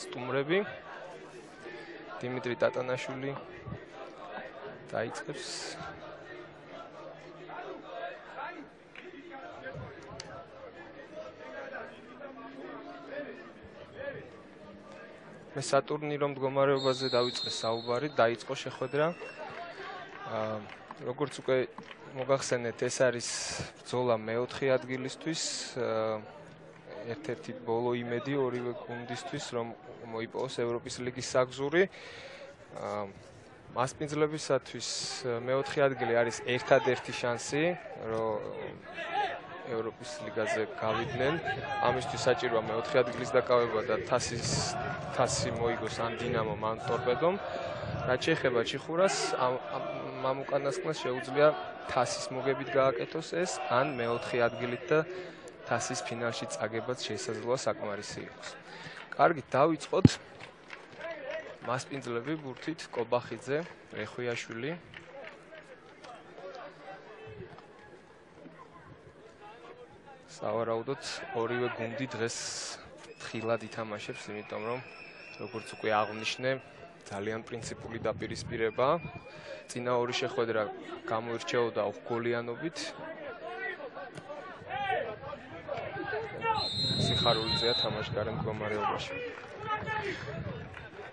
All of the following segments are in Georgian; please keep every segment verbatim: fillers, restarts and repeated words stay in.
სტუმრები. დიმიტრი ტატანაშვილი დაიწყებს. მე სატურნირო მდგომარეობაზე დავიწყე საუბარი, დაიწყო შეხვედრა. როგორც უკვე მოგახსენეთ, ეს არის ბრძოლა მეოთხე ადგილისთვის, ერთ-ერთი ბოლო იმედი ორივე გუნდისთვის, რომ მოიპოვოს ევროპის ლიგის საგზური. მასპინძლებისათვის მეოთხე ადგილი არის ერთადერთი შანსი, რომ ევროპის ლიგაზე გავიდნენ. ამისთვის საჭიროა მეოთხე ადგილის დაკავება და თასის თასი მოიგოს ან დინამომ ან ტორპედომ. რაც შეეხება ჩიხურას, ამ უკანასკნელს შეუძლია თასის მოგებით გააკეთოს ეს, ან მეოთხე ადგილით და თასის ფინალში წაგებაც შესაძლოა საკმარისი იყოს. კარგით, დავიწყოთ. მასპინძლები ბურთით კობახიძე, რეხვიაშვილი. სავარაუდოდ ორივე გუნდი დღეს თხილად ითამაშებს, იმიტომ რომ როგორც უკვე აღნიშნე, ძალიან პრინციპული დაპირისპირება. წინა ორი შეხვედრა გამოირჩეოდა უხგოლიანობით. სიხარულიძეა თამაშგარე მდგომარეობაში.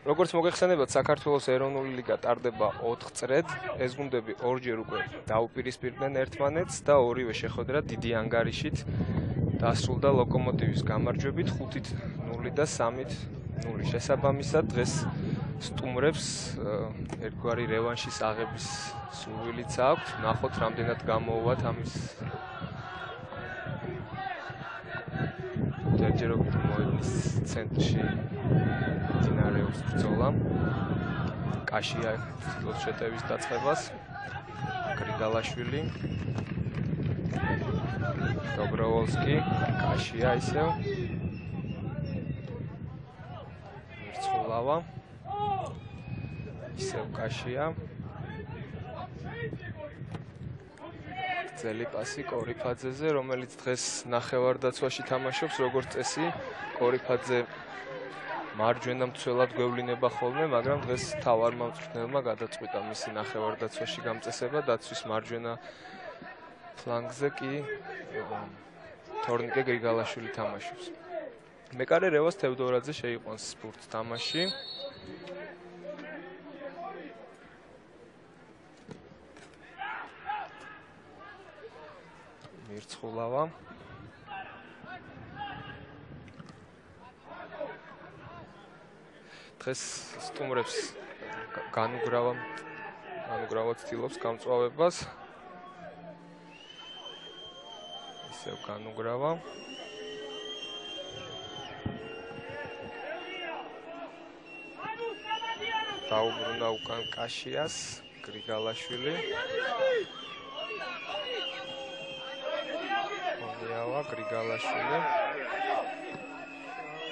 როგორც მოგეხსენებათ, საქართველოს ეროვნული ლიგა ტარდება ოთხ წრედ. ეს გუნდები ორჯერ უკვე დაუპირისპირდნენ ერთმანეთს და ორივე შეხვედრა დიდი ანგარიშით დასრულდა ლოკომოტივის გამარჯვებით ხუთით ნული და სამით ნული. შესაბამისად, დღეს სტუმრებს ერთგვარი რევანშის აღების სურვილიც აქვთ. ნახოთ, რამდენად გამოუვათ ამის ჯერჯერობით მოედნის ცენტრში დინარევს ბრძოლა. კაშია ცდილობს შეტევის დაწყებას. გრიგალაშვილი, დობროვოლსკი, კაშია ისევ. მირცხულავა. ისევ კაშია. ძელი პასი კორიფაძეზე, რომელიც დღეს ნახევარდაცვაში თამაშობს, როგორც წესი. კორიფაძე მარჯვენა მცველად გვევლინება ხოლმე, მაგრამ დღეს თავარმა მწვრთნელმა გადაწყვიტა მისი ნახევარდაცვაში გამწესება, დაცვის მარჯვენა ფლანგზე კი თორნიკე გრიგალაშვილი თამაშობს. მეკარე რევას თევდორაძე შეიყვანს ბურთს თამაში. მირცხულავა. დღეს სტუმრებს განუგრავა განუგრავა ცდილობს გამწვავებას. ისევ განუგრავა. დაუბრუნდა უკან კაშიას, გრიგალაშვილი. ფონიავა, გრიგალაშვილი.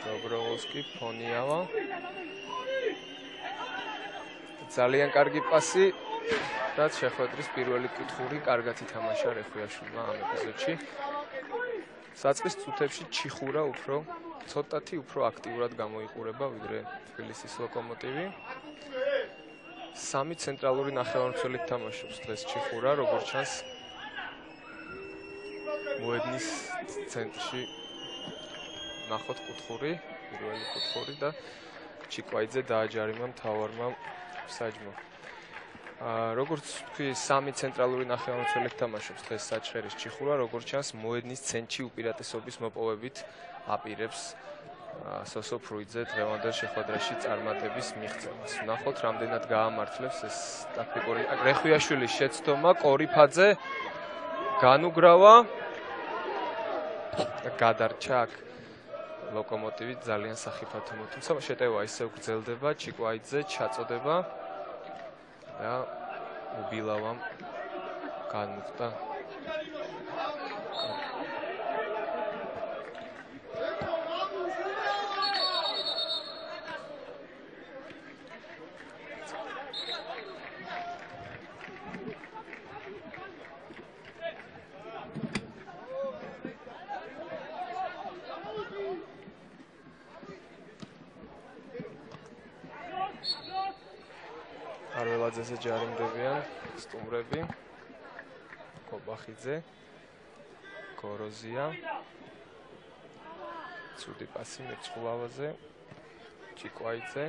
დობროვოლსკი, ფონიავა. ძალიან კარგი პასი და შეხვედრის პირველი კუთხური კარგად ითამაშა რეხვიაშვილმა ამ ეპიზოდში. საწყის წუთებში ჩიხურა უფრო ცოტათი უფრო აქტიურად გამოიყურება ვიდრე თბილისის ლოკომოტივი. სამი ცენტრალური ნახევარმცველით თამაშობს დღეს ჩიხურა, როგორც ჩანს მოედნის ცენტრში. ნახოთ კუთხური, პირველი კუთხური და ჩიკვაიძე დააჯარიმა მთავარმა საჯმა. როგორც თქვი, სამი ცენტრალური ნახევარმცველით თამაშობს დღეს საჩხერის ჩიხურა, როგორც ჩანს მოედნის ცენტრში უპირატესობის მოპოვებით აპირებს სოსო ფრუიძე დღევანდელ შეხვედრაში წარმატების მიღწევას. ნახოთ, რამდენად გაამართლებს ეს ტაქტიკური. რეხვიაშვილის შეცდომა, კორიფაძე განუგრავა და გადარჩა აქ ლოკომოტივი ძალიან სახიფათო მოთუმცა შეტევა ისევ გრძელდება, ჩიკვაიძე ჩაწოდება და უბილავამ განუხდა. ყულაძეზე ჯარიმდებიან სტუმრები. კობახიძე, გოროზია. ცუდი პასი მეწყულავაზე. ჭიკვაიძე.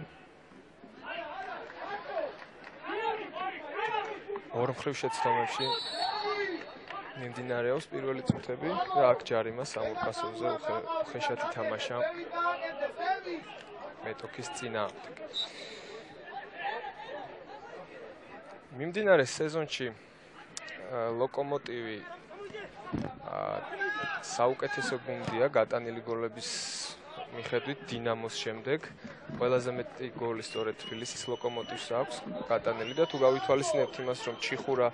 ორ მხრივ შეცდომებში მიმდინარეობს პირველი წუთები და აქ ჯარიმა სამურკასოვზე უხეშად ითამაშა მეტოქის წინააღმდეგ. მიმდინარე სეზონში ლოკომოტივი საუკეთესო გუნდია გატანილი გოლების მიხედვით დინამოს შემდეგ. ყველაზე მეტი გოლი სწორედ თბილისის ლოკომოტივს აქვს გატანილი და თუ გავითვალისწინებთ იმას, რომ ჩიხურა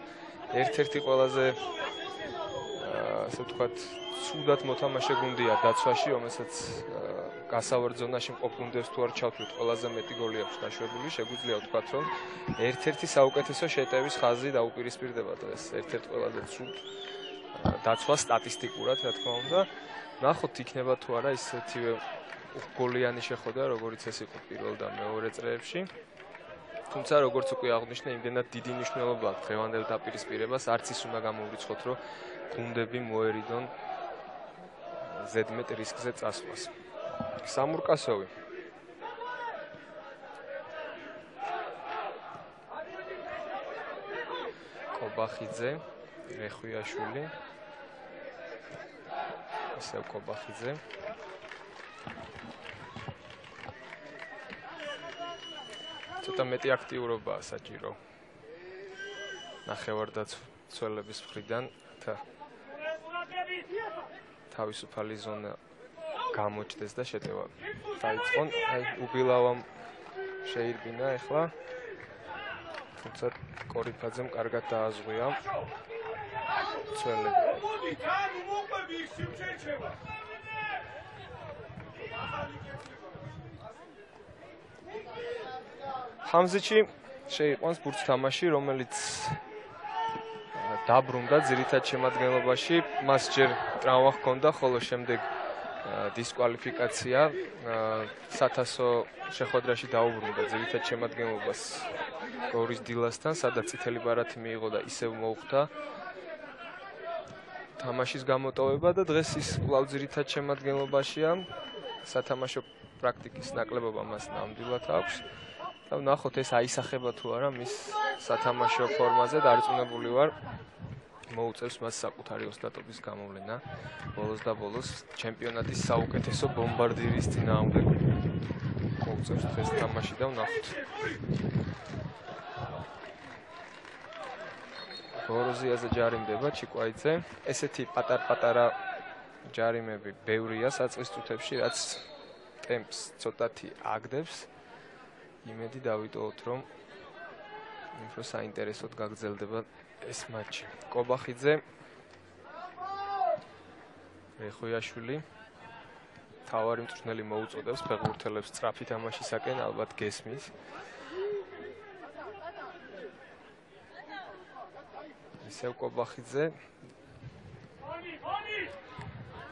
ერთ-ერთი ყველაზე ასე ვთქვათ, ცუდად მოთამაშე გუნდია დაცვაში, რომელსაც გასავარდ ზონაში მყოფ გუნდებს თუ არ ჩავთვლით, ყველაზე მეტი გოლი აქვს გაშვებული, შეგვიძლია ვთქვათ, რომ ერთ-ერთი საუკეთესო შეტევის ხაზი დაუპირისპირდება დღეს, ერთ-ერთი ყველაზე ცუდ დაცვა სტატისტიკურად, რა თქმა უნდა. ნახოთ იქნება თუ არა ისეთივე გოლიანი შეხვედრა, როგორც ეს იყო პირველ და მეორე წრეებში. თუმცა როგორც უკვე აღნიშნე, იმდენად დიდი მნიშვნელობა აქვს დღევანდელ დაპირისპირებას, არც ის უნდა გამოვრიცხოთ, რომ გუნდები მოერიდონ ზედმეტ რისკზე წასვლას. სამურკასოვი. კობახიძე, რეხვიაშვილი. ისევ კობახიძე. ცოტა მეტი აქტიურობაა საჭირო. ნახევარდაცველების მხრიდან და თავისუფალი ზონა გამოჩნდეს და შეტევა დაიწყონ. აი უბილავამ შეირბინა ახლა. თუმცა კორიფაძემ კარგად დააზღვია. ცველები. ხამზიჩი შეიყვანს ბურთს თამაში, რომელიც დაბრუნდა ძირითად შემადგენლობაში, მას ჯერ ტრავმა ჰქონდა, ხოლო შემდეგ დისკვალიფიკაცია სათასო შეხვედრაში დაუბრუნდა ძირითად შემადგენლობას გორის დილასთან, სადაც წითელი ბარათი მიიღო და ისევ მოუხდა თამაშის გამოტოვება და დღეს ის კვლავ ძირითად შემადგენლობაშია. სათამაშო პრაქტიკის ნაკლებობა მას ნამდვილად აქვს. და ვნახოთ ეს აისახება თუ არა მის სათამაშო ფორმაზე დარწმუნებული ვარ. მოუწევს მას საკუთარი ოსტატობის გამოვლენა ბოლოს და ბოლოს ჩემპიონატის საუკეთესო ბომბარდირის წინააღმდეგ მოუწევს დღეს თამაში და ვნახოთ. გოროზიაზე ჯარიმდება ჭიკვაიძე. ესეთი პატარ-პატარა ჯარიმები ბევრია საწყის წუთებში, რაც ტემპს ცოტათი აგდებს. იმედი დავიტოვოთ, რომ უფრო საინტერესოდ გაგრძელდება ეს მატჩი. კობახიძე, რეხვიაშვილი, თავარი მწვრთნელი მოუწოდებს ფეხბურთელებს სწრაფი თამაშისაკენ, ალბათ გესმის. ისევ კობახიძე.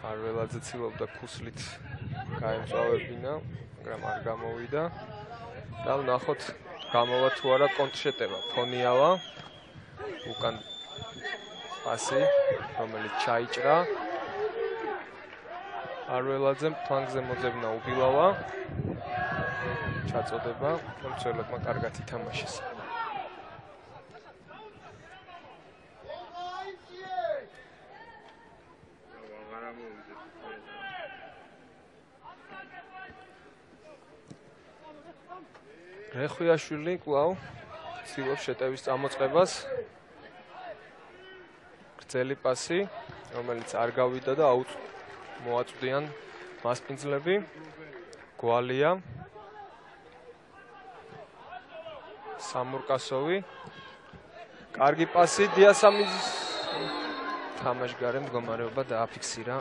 არველაძე ცდილობდა ქუსლით გაემწვავებინა, მაგრამ არ გამოვიდა. და ვნახოთ გამოვა თუ არა კონტრშეტევა. ფონიავა უკან პასი, რომელიც ჩაიჭრა. არველაძემ ფლანგზე მოძებნა უბილავა. ჩაწოდება, მცველებმა კარგად ითამაშეს. რეხვიაშვილი კვლავ ცდილობს შეტევის წამოწყებას. გრძელი პასი, რომელიც არ გავიდა და მოაწვდიან მასპინძლები. გვალია. სამურკასოვი. კარგი პასი დიასამის თამაშგარე მდგომარეობა დააფიქსირა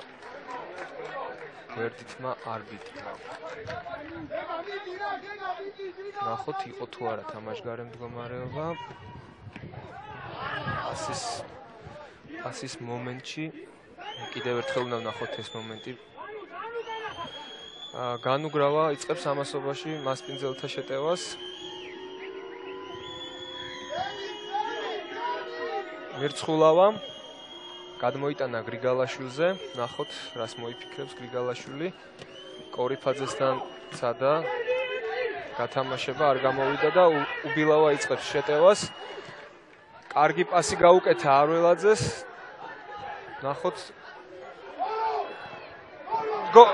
გვერდითმა არბიტრმა. ნახოთ იყო თუ არა თამაშგარე მდგომარეობა. ასის ასის მომენტში კიდევ ერთხელ უნდა ვნახოთ ეს მომენტი. განუგრავა იწყებს ამასობაში მასპინძელთა შეტევას. მირცხულავა გადმოიტანა გრიგალაშვილზე, ნახოთ რას მოიფიქრებს გრიგალაშვილი. კორიფაძესთან ცადა გათამაშება არ გამოვიდა და უბილავა იწყებს შეტევას. კარგი პასი გაუკეთა არველაძეს. ნახოთ გო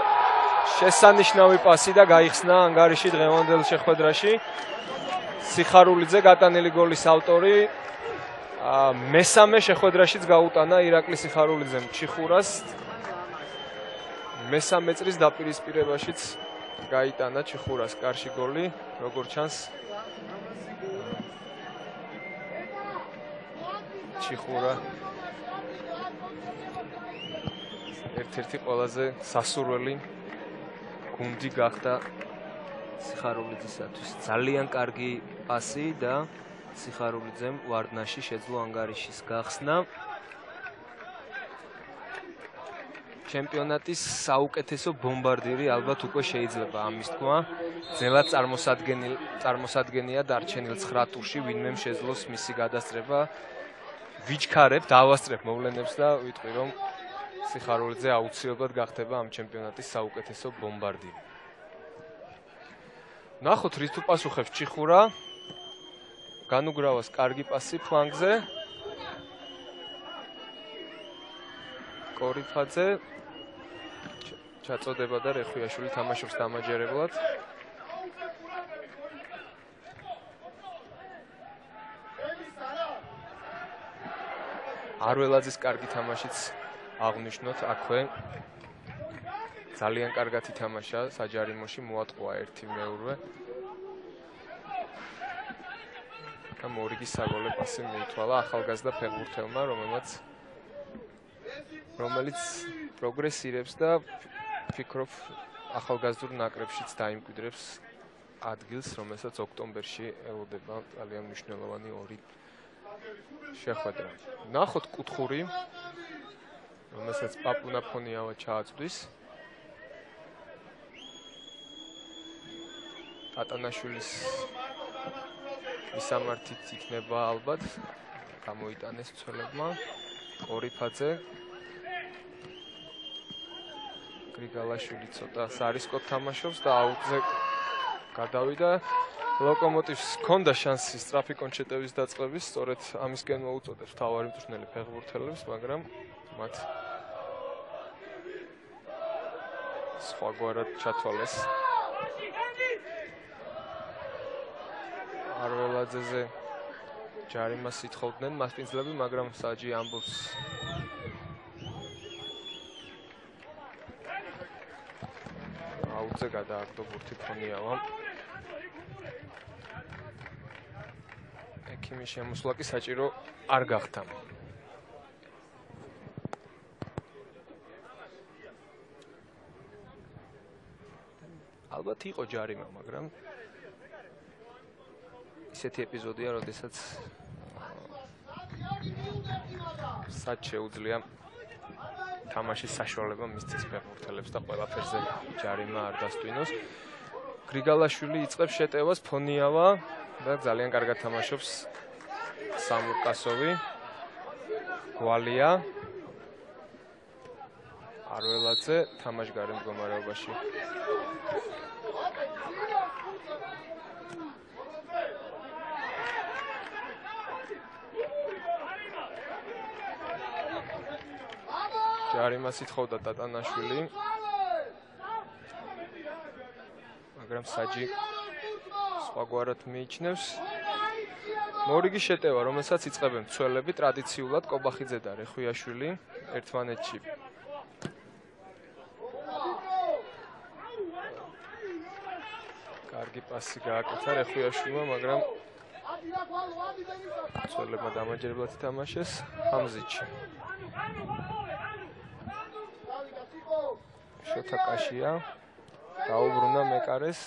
შესანიშნავი პასი და გაიხსნა ანგარიში დღევანდელ შეხვედრაში. სიხარულიძე გატანილი გოლის ავტორი. მესამე შეხვედრაშიც გაუტანა ირაკლი სიხარულიძემ ჩიხურას. მესამე წრის დაპირისპირებაშიც გაიტანა ჩიხურას კარში გოლი, როგორ ჩანს. ჩიხურა ერთ-ერთი ყველაზე სასურველი გუნდი გახდა სიხარულიძისათვის. ძალიან კარგი პასი და სიხარულიძემ ვარდნაში შეძლო ანგარიშის გახსნა. ჩემპიონატის საუკეთესო ბომბარდირი ალბათ უკვე შეიძლება ამის თქვა. ძნელად წარმოსადგენელი წარმოსადგენია დარჩენილ ცხრა ტურში, ვინმე შეძლოს მისი გადასწრება. ვიჩქარებ, დავასწრებ მოვლენებს და ვიტყვი, რომ სიხარულიძე აუცილებლად გახდება ამ ჩემპიონატის საუკეთესო ბომბარდირი. ნახოთ რის თუ პასუხებს ჩიხურა. განუგრავას კარგი პასი ფლანგზე. კორიფაძე ჩაწოდება და რეხვიაშვილი თამაშობს დამაჯერებლად. არველაძის კარგი თამაშიც აღნიშნოთ აქვე. ძალიან კარგად ითამაშა საჯარიმოში, მოატყვა ერთი მეურვე. და მორიგის საგოლე პასი მიითვალა ახალგაზრდა ფეხბურთელმა, რომელმაც რომელიც პროგრესირებს და ფიქრობ ახალგაზრდულ ნაკრებშიც დაიმკვიდრებს ადგილს, რომელსაც ოქტომბერში ელოდება ძალიან მნიშვნელოვანი ორი შეხვედრა. ნახოთ კუთხური, რომელსაც პაპუნა ფონიავა ჩააწვდის. ატანაშვილის მისამართით იქნება ალბათ გამოიტანეს მცველებმა. კორიფაძე გრიგალაშვილი ცოტა სარისკოდ თამაშობს და აუტზე გადავიდა. ლოკომოტივს ჰქონდა შანსი სწრაფი კონჩეტების დაწყების, სწორედ ამისკენ მოუწოდებს მთავარი მწვრთნელი ფეხბურთელებს, მაგრამ მათ სხვაგვარად ჩათვალეს. არველაძეზე ჯარიმას ითხოვდნენ მასპინძლები, მაგრამ საჯი ამბობს აუძე გადააგდო ბურთი ფონიავამ. ექიმის შემოსვლა კი საჭირო არ გახდა. ალბათ იყო ჯარიმა, მაგრამ ისეთი ეპიზოდია, როდესაც სად შეუძლია თამაშის საშუალება მისცეს ფეხბურთელებს და ყველაფერზე ჯარიმა არ დასტვინოს. გრიგალაშვილი იწყებს შეტევას, ფონიავა და ძალიან კარგად თამაშობს სამურკასოვი. გვალია არველაძე თამაშგარე მდგომარეობაში. ჯარიმას ითხოვდა ტატანაშვილი, მაგრამ საჯი სხვაგვარად მიიჩნევს. მორიგი შეტევა, რომელსაც იწყებენ მცველები ტრადიციულად კობახიძე და რეხვიაშვილი ერთმანეთში. კარგი პასი გააკეთა რეხვიაშვილმა, მაგრამ მცველებმა დამაჯერებლად ითამაშეს. ჰამზიჩი შოთაკაშია დაუბრუნა მეკარეს.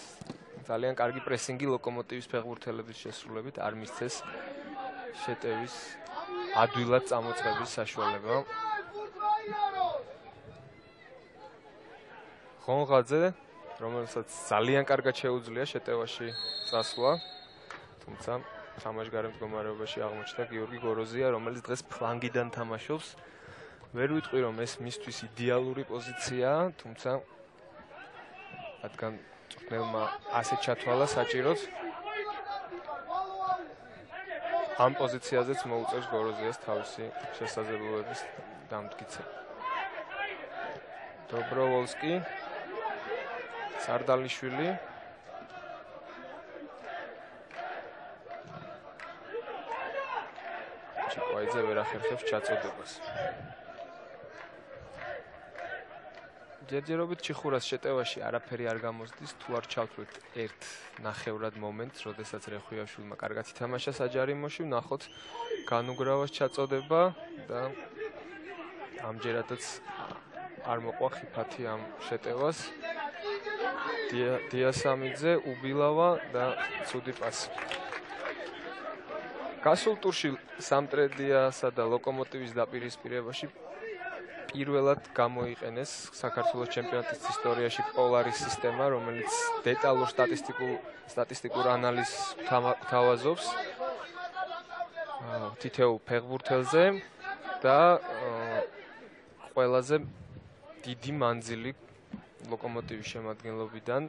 ძალიან კარგი პრესინგი ლოკომოტივის ფეხბურთელების შესრულებით არ მისცეს შეტევის ადვილად წამოწყების საშუალება. ხონღაძე, რომელსაც ძალიან კარგად შეუძლია შეტევაში წასვლა, თუმცა თამაშგარე მდგომარეობაში აღმოჩნდა გიორგი გოროზია, რომელიც დღეს ფლანგიდან თამაშობს. ვერ ვიტყვი რომ ეს მისთვის იდეალური პოზიციაა, თუმცა რადგან წვრთნელმა ასე ჩათვალა საჭიროდ ამ პოზიციაზეც მოუწევს გოროზიას თავისი შესაძლებლობების დამტკიცება. დობროვოლსკი, სარდალიშვილი ჩიკვაიძე ვერ ახერხებს ჩაწოდებას. ჯერჯერობით ჩიხურას შეტევაში არაფერი არ გამოსდის, თუ არ ჩავთვლით ერთ ნახევრად მომენტს, როდესაც რეხვიაშვილმა კარგად ითამაშა საჯარიმოში, ვნახოთ განუგრავას ჩაწოდება და ამჯერადაც არ მოყვა ხიფათი ამ შეტევას. დიასამიძე, უბილავა და ცუდი პასი. გასულ ტურში სამტრედიასა და ლოკომოტივის დაპირისპირებაში პირველად გამოიყენეს საქართველოს ჩემპიონატის ისტორიაში პოლარის სისტემა, რომელიც დეტალურ სტატისტიკურ სტატისტიკურ ანალიზს თავაზობს თითოეულ ფეხბურთელზე და ყველაზე დიდი მანძილი ლოკომოტივის შემადგენლობიდან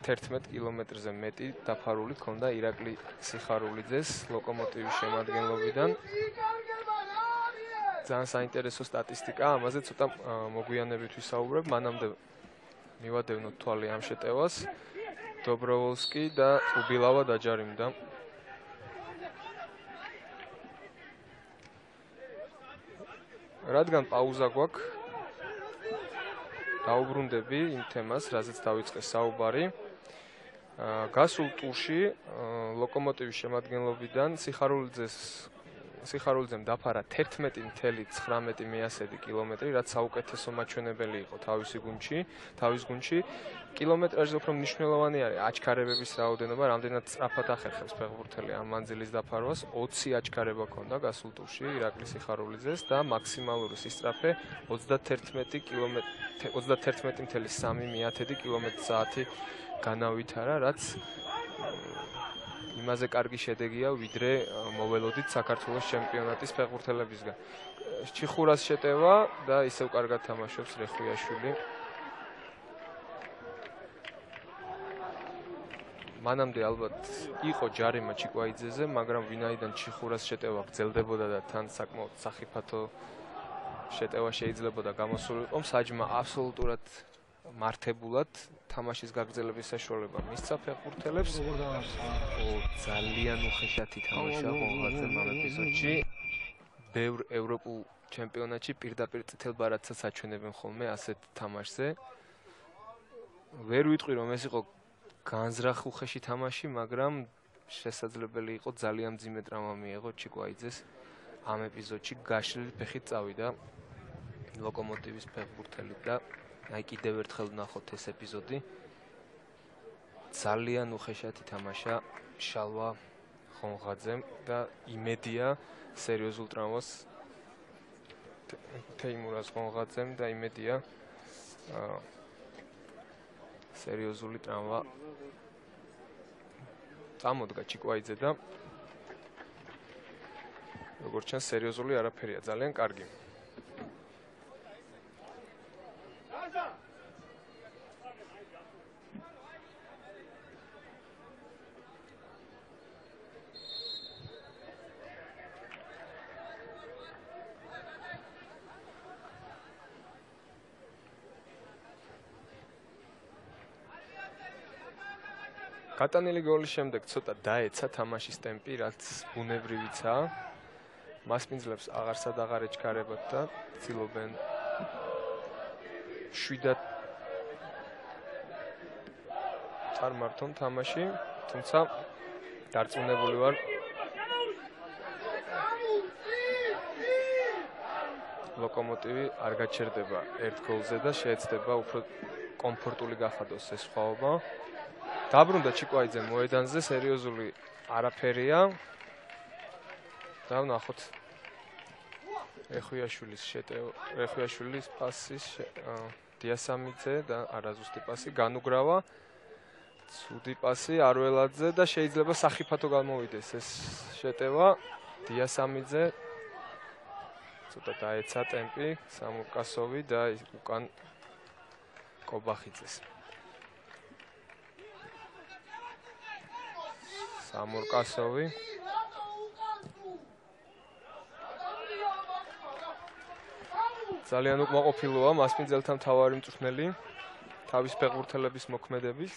თერთმეტ კილომეტრზე მეტი დაფარული ჰქონდა ირაკლი სიხარულიძეს ლოკომოტივის შემადგენლობიდან. ძალიან საინტერესო სტატისტიკა, ამაზე ცოტა მოგვიანებით ვისაუბრებ, მანამდე მივადევნოთ თვალი ამ შეტევას. დობროვოლსკი და უბილავა დაჯარიმდა. რადგან პაუზა გვაქვს, დაუბრუნდები იმ თემას, რაზეც დავიწყე საუბარი. გასულ ტურში ლოკომოტივის შემადგენლობიდან სიხარულიძეს სიხარულიძემ დაფარა თერთმეტი ათეული ცხრამეტი მეასედი კილომეტრი, რაც საუკეთესო მაჩვენებელი იყო თავისი გუნდში, თავის გუნდში. კილომეტრაჟზე უფრო მნიშვნელოვანი არის აჩქარებების რაოდენობა, რამდენად სწრაფად ახერხებს ფეხბურთელი ამ მანძილის დაფარვას. ოცი აჩქარება ჰქონდა გასულ ტურში ირაკლი სიხარულიძეს და მაქსიმალური სისწრაფე ოცდათერთმეტი კილომეტრი ოცდათერთმეტი ათეული სამი მეათედი კილომეტრი საათი განავითარა, რაც იმაზე კარგი შედეგია, ვიდრე მოველოდით საქართველოს ჩემპიონატის ფეხბურთელებისგან. ჩიხურას შეტევა და ისევ კარგად თამაშობს რეხვიაშვილი. მანამდე ალბათ იყო ჯარიმა ჩიკვაიძეზე, მაგრამ ვინაიდან ჩიხურას შეტევა გრძელდებოდა და თან საკმაოდ სახიფათო შეტევა შეიძლებოდა გამოსულიყო, საჯმა აბსოლუტურად მართებულად თამაშის გაგრძელების საშუალება მისცა ფეხბურთელებს. ძალიან უხეშად ითამაშა ღონღაძემ ამ ეპიზოდში. ბევრ ევროპულ ჩემპიონატში პირდაპირ წითელ ბარათსაც აჩვენებენ ხოლმე ასეთ თამაშზე. ვერ ვიტყვი რომ ეს იყო განზრახ უხეში თამაში, მაგრამ შესაძლებელი იყო ძალიან მძიმე ტრავმა მიეღო ჩიკვაიძეს ამ ეპიზოდში გაშლილი ფეხით წავიდა ლოკომოტივის ფეხბურთელი და აი კიდევ ერთხელ ვნახოთ ეს ეპიზოდი. ძალიან უხეშად ითამაშა შალვა ხონღაძემ და იმედია სერიოზულ ტრავმას თეიმურაზ ხონღაძემ და იმედია სერიოზული ტრავმა წამოდგა ჩიკვაიძე და როგორც ჩანს სერიოზული არაფერია, ძალიან კარგი. გატანილი გოლის შემდეგ ცოტა დაეცა თამაშის ტემპი, რაც ბუნებრივიცაა. მასპინძლებს აღარსად აღარ ეჩქარებათ და ცდილობენ შვიდად წარმართონ თამაში, თუმცა დარწმუნებული ვარ ლოკომოტივი არ გაჩერდება ერთ გოლზე და შეეცდება უფრო კომფორტული გახადოს ეს სხვაობა. დაბრუნდა ჩიკვაიძე მოედანზე, სერიოზული არაფერია. და ვნახოთ რეხვიაშვილის შეტევა, რეხვიაშვილის პასის დიასამიძე და არაზუსტი პასი განუგრავა. ცუდი პასი არველაძე და შეიძლება სახიფათო გამოვიდეს ეს შეტევა. დიასამიძე ცოტა დაეცა ტემპი, სამურკასოვი და უკან კობახიძეს. სამურკასოვი ძალიან უკმაყოფილოა მასპინძელთა მთავარი მწვრთნელი თავის ფეხბურთელების მოქმედებით.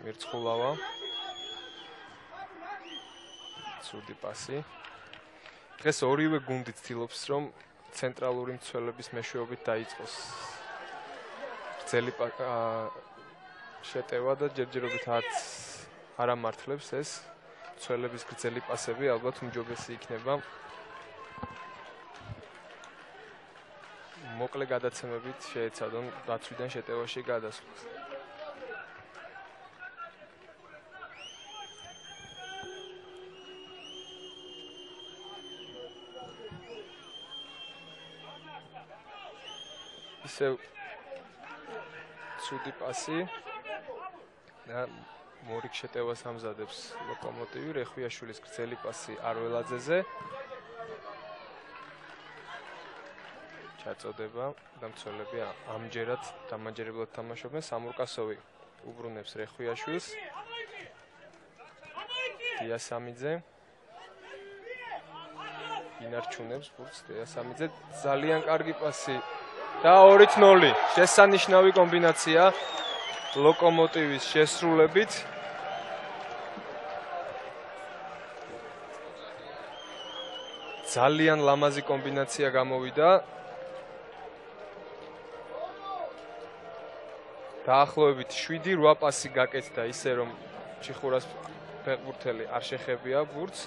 მერცხულავა. ცუდი პასი. დღეს ორივე გუნდი ცდილობს რომ ცენტრალური მცველების მეშვეობით დაიწყოს გრძელი შეტევა და ჯერჯერობით არც არ ამართლებს ეს მცველების გრძელი პასები, ალბათ უმჯობესი იქნება მოკლე გადაცემებით შეეცადონ დაცვიდან შეტევაში გადასვლას. ისევ ცუდი პასი და მორიგ შეტევას ამზადებს ლოკომოტივი. რეხვიაშვილის გრძელი პასი არველაძეზე ჩაწოდება და მცველები ამჯერად დამაჯერებლად თამაშობენ. სამურკასოვი უბრუნებს რეხვიაშვილს. დიასამიძე ინარჩუნებს ბურთს. დიასამიძე ძალიან კარგი პასი და ორი ნული. შესანიშნავი კომბინაცია ლოკომოტივის შესრულებით. ძალიან ლამაზი კომბინაცია გამოვიდა. დაახლოებით შვიდი რვა პასი გაკეთდა ისე რომ ჩიხურას ფეხბურთელი არ შეხებია ბურთს.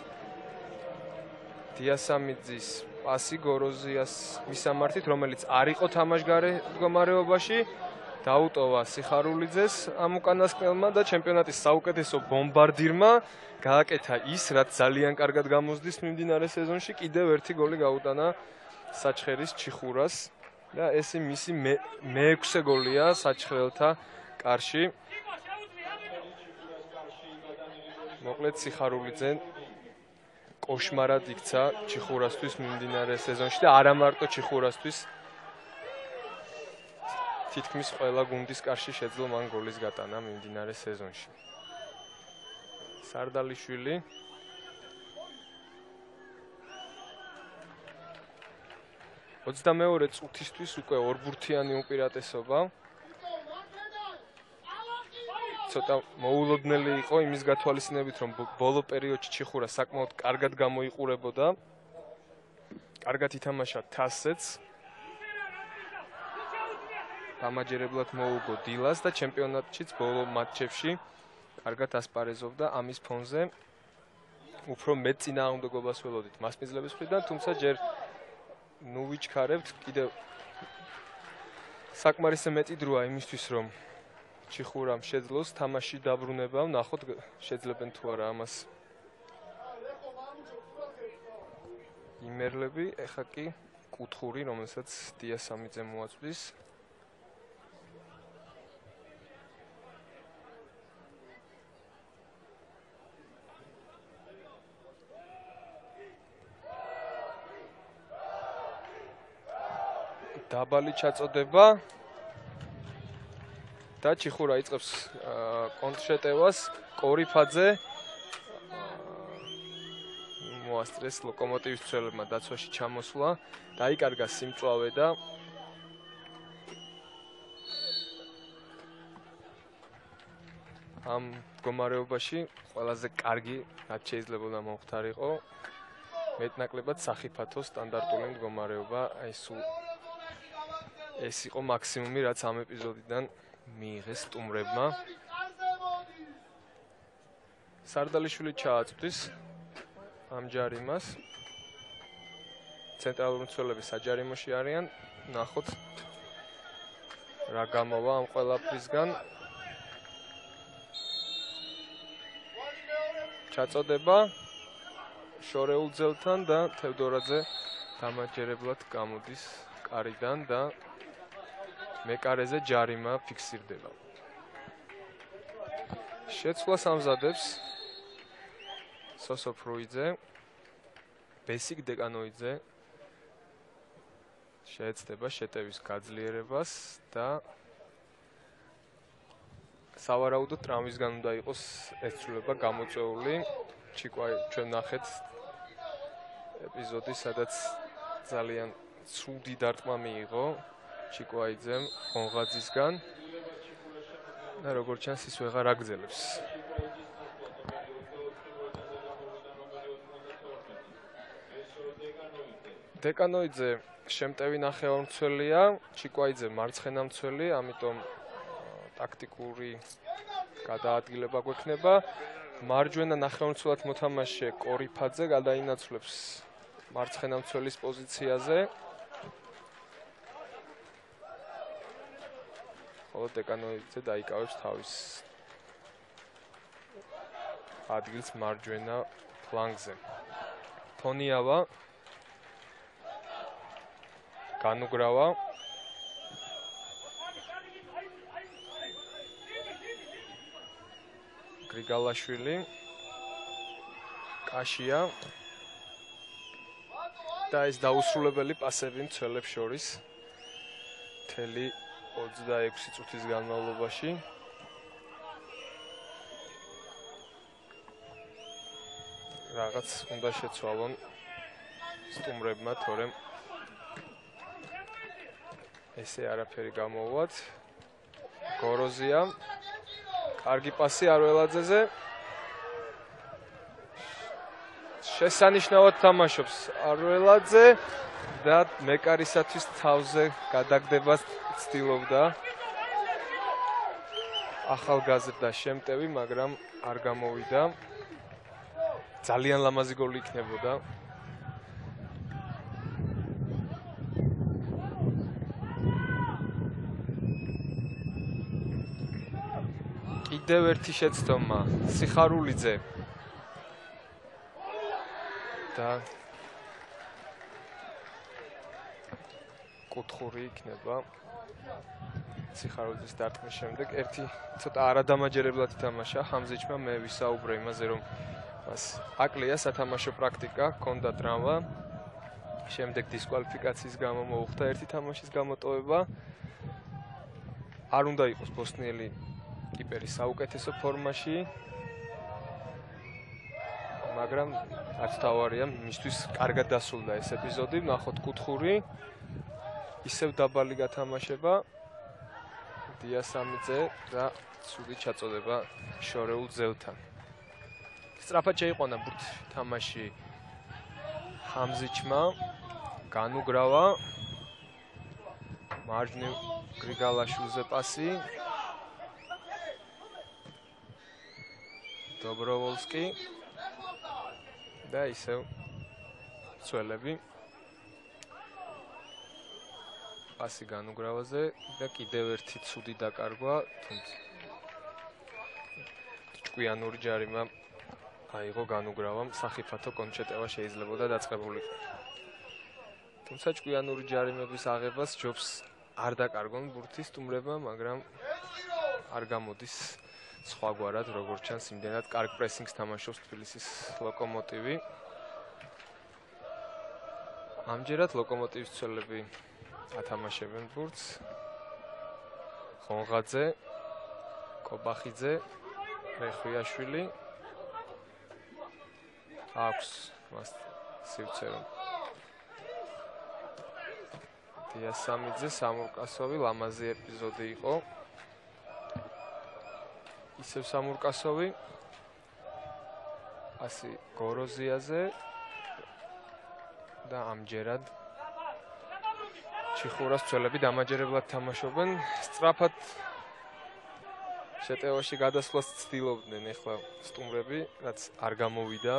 დიასამიძის პასი გოროზიას მისამართით, რომელიც არ იყო თამაშგარე მდგომარეობაში, დაუტოვა სიხარულიძეს ამ უკანასკნელმა და ჩემპიონატის საუკეთესო ბომბარდირმა გააკეთა ის, რაც ძალიან კარგად გამოსდის მიმდინარე სეზონში. კიდევ ერთი გოლი გაუტანა საჩხერის ჩიხურას და ეს მისი მეექვსე გოლია საჩხერელთა კარში. მოკლედ სიხარულიძე კოშმარად იქცა ჩიხურასთვის მიმდინარე სეზონში და არა მარტო ჩიხურასთვის. თითქმის ყველა გუნდის კარში შეძლო მან გოლის გატანა მიმდინარე სეზონში. სარდალიშვილი ოცდამეორე წუთისთვის უკვე ორბურთიანი უპირატესობა. ცოტა მოულოდნელი იყო იმის გათვალისწინებით, რომ ბოლო პერიოდში ჩიხურა საკმაოდ კარგად გამოიყურებოდა. კარგად ითამაშა თასეც. დამაჯერებლად მოუგო დილას და ჩემპიონატშიც ბოლო მატჩებში კარგად ასპარეზობდა. ამის ფონზე უფრო მეტ წინააღმდეგობას ველოდით მასპინძლების მხრიდან, თუმცა ჯერ ნუ ვიჩქარებთ, კიდევ საკმარისზე მეტი დროა იმისთვის, რომ ჩიხურამ შეძლოს თამაში დაბრუნება, ნახოთ შეძლებენ თუ არა ამას იმერლები. ეხა კი კუთხური, რომელსაც დიასამიძე მოაწვდის. დაბალი ჩაწოდება და ჩიხურა იწყებს კონტრშეტევას. კორიფაძე მოასწრეს ლოკომოტივის მცველებმა დაცვაში ჩამოსვლა. დაიკარგა სიმწვავე და ამ მდგომარეობაში ყველაზე კარგი რაც შეიძლება მომხდარიყო მეტნაკლებად სახიფათო სტანდარტული მდგომარეობა. აი სულ ეს იყო მაქსიმუმი, რაც ამ ეპიზოდიდან მიიღეს სტუმრებმა. სარდალიშვილი ჩააწვდის ამ ჯარიმას. ცენტრალური მცველები საჯარიმოში არიან. ნახოთ რა გამოვა ამ ყველაფრისგან. ჩაწოდება შორეულ ძელთან და თევდორაძე დამაჯერებლად გამოდის კარიდან და მეკარეზე ჯარიმა ფიქსირდება. შეცვლას ამზადებს სოსო ფრუიძე, ბესიკ დეკანოიძე შეეცდება შეტევის გაძლიერებას და სავარაუდოდ ტრამვისგან უნდა იყოს ეს ცვლილება გამოწვეული. ჩიკვაი ჩვენ ნახეთ ეპიზოდი, სადაც ძალიან ცუდი დარტყმა მიიღო ჩიკვაიძემ ხონღაძისგან და როგორც ჩანს ის ვეღარ აგრძელებს. დეკანოიძე შემტევი ნახევარმცველია, ჩიკვაიძე მარცხენა მცველი, ამიტომ ტაქტიკური გადაადგილება გვექნება. მარჯვენა ნახევარმცველად მოთამაშე კორიფაძე გადაინაცვლებს მარცხენა მცველის პოზიციაზე. ხოლო დეკანოიძე დაიკავებს თავის ადგილს მარჯვენა ფლანგზე. თონიავა განუგრავა გრიგალაშვილი კაშია და ეს დაუსრულებელი პასები მცველებს შორის მთელი ოცდაექვსი წუთის განმავლობაში. რაღაც უნდა შეცვალონ სტუმრებმა, თორემ ესე არაფერი გამოვათ. გოროზია კარგი პასი არველაძეზე. შესანიშნავად თამაშობს არველაძე და მეკარისათვის თავზე გადაგდებას ცდილობდა ახალგაზრდა შემტევი, მაგრამ არ გამოვიდა. ძალიან ლამაზი გოლი იქნებოდა. კიდევ ერთი შეცდომა სიხარულიძე და კუთხური იქნება სიხარულიძის დარტყმის შემდეგ. ერთი ცოტა არადამაჯერებლად ითამაშა ხამზიჩმა, მე ვისაუბრე იმაზე, რომ მას აკლია სათამაშო პრაქტიკა, ჰქონდა ტრავმა, შემდეგ დისკვალიფიკაციის გამო მოუხდა ერთი თამაშის გამოტოვება. არ უნდა იყოს ბოსნიელი კიპერი საუკეთესო ფორმაში, მაგრამ რაც თავარია, მისთვის კარგად დასრულდა ეს ეპიზოდი. ნახოთ კუთხური, ისევ დაბალი გათამაშება დიასამიძე და ცუდი ჩაწოდება შორეულ ძელთან. სწრაფად შეიყვანა ბურთი თამაში ხამზიჩმა, განუგრავა მარჯვნივ გრიგალაშვილზე პასი. დობროვოლსკი და ისევ მცველები პასი განუგრავაზე და კიდევ ერთი ცუდი დაკარგვა, თუმცა ჭკვიანური ჯარიმა აიღო განუგრავამ, სახიფათო კონჩეტევა შეიძლებოდა დაწყებულიყო. თუმცა ჭკვიანური ჯარიმების აღებას ჯობს არ დაკარგონ ბურთი სტუმრებმა, მაგრამ არ გამოდის სხვაგვარად, როგორც ჩანს, იმდენად კარგ პრესინგს თამაშობს თბილისის ლოკომოტივი. ამჯერად ლოკომოტივის მცველები ათამაშებენ ბურთს. ხონღაძე, კობახიძე, რეხვიაშვილი. აქვს მას სივცე რომ დიასამიძე, სამურკასოვი, ლამაზი ეპიზოდი იყო. ისევ სამურკასოვი, პასი გოროზიაზე და ამჯერად ჩიხურას მცველები დამაჯერებლად თამაშობენ. სწრაფად შეტევაში გადასვლას ცდილობდნენ ახლა სტუმრები, რაც არ გამოვიდა.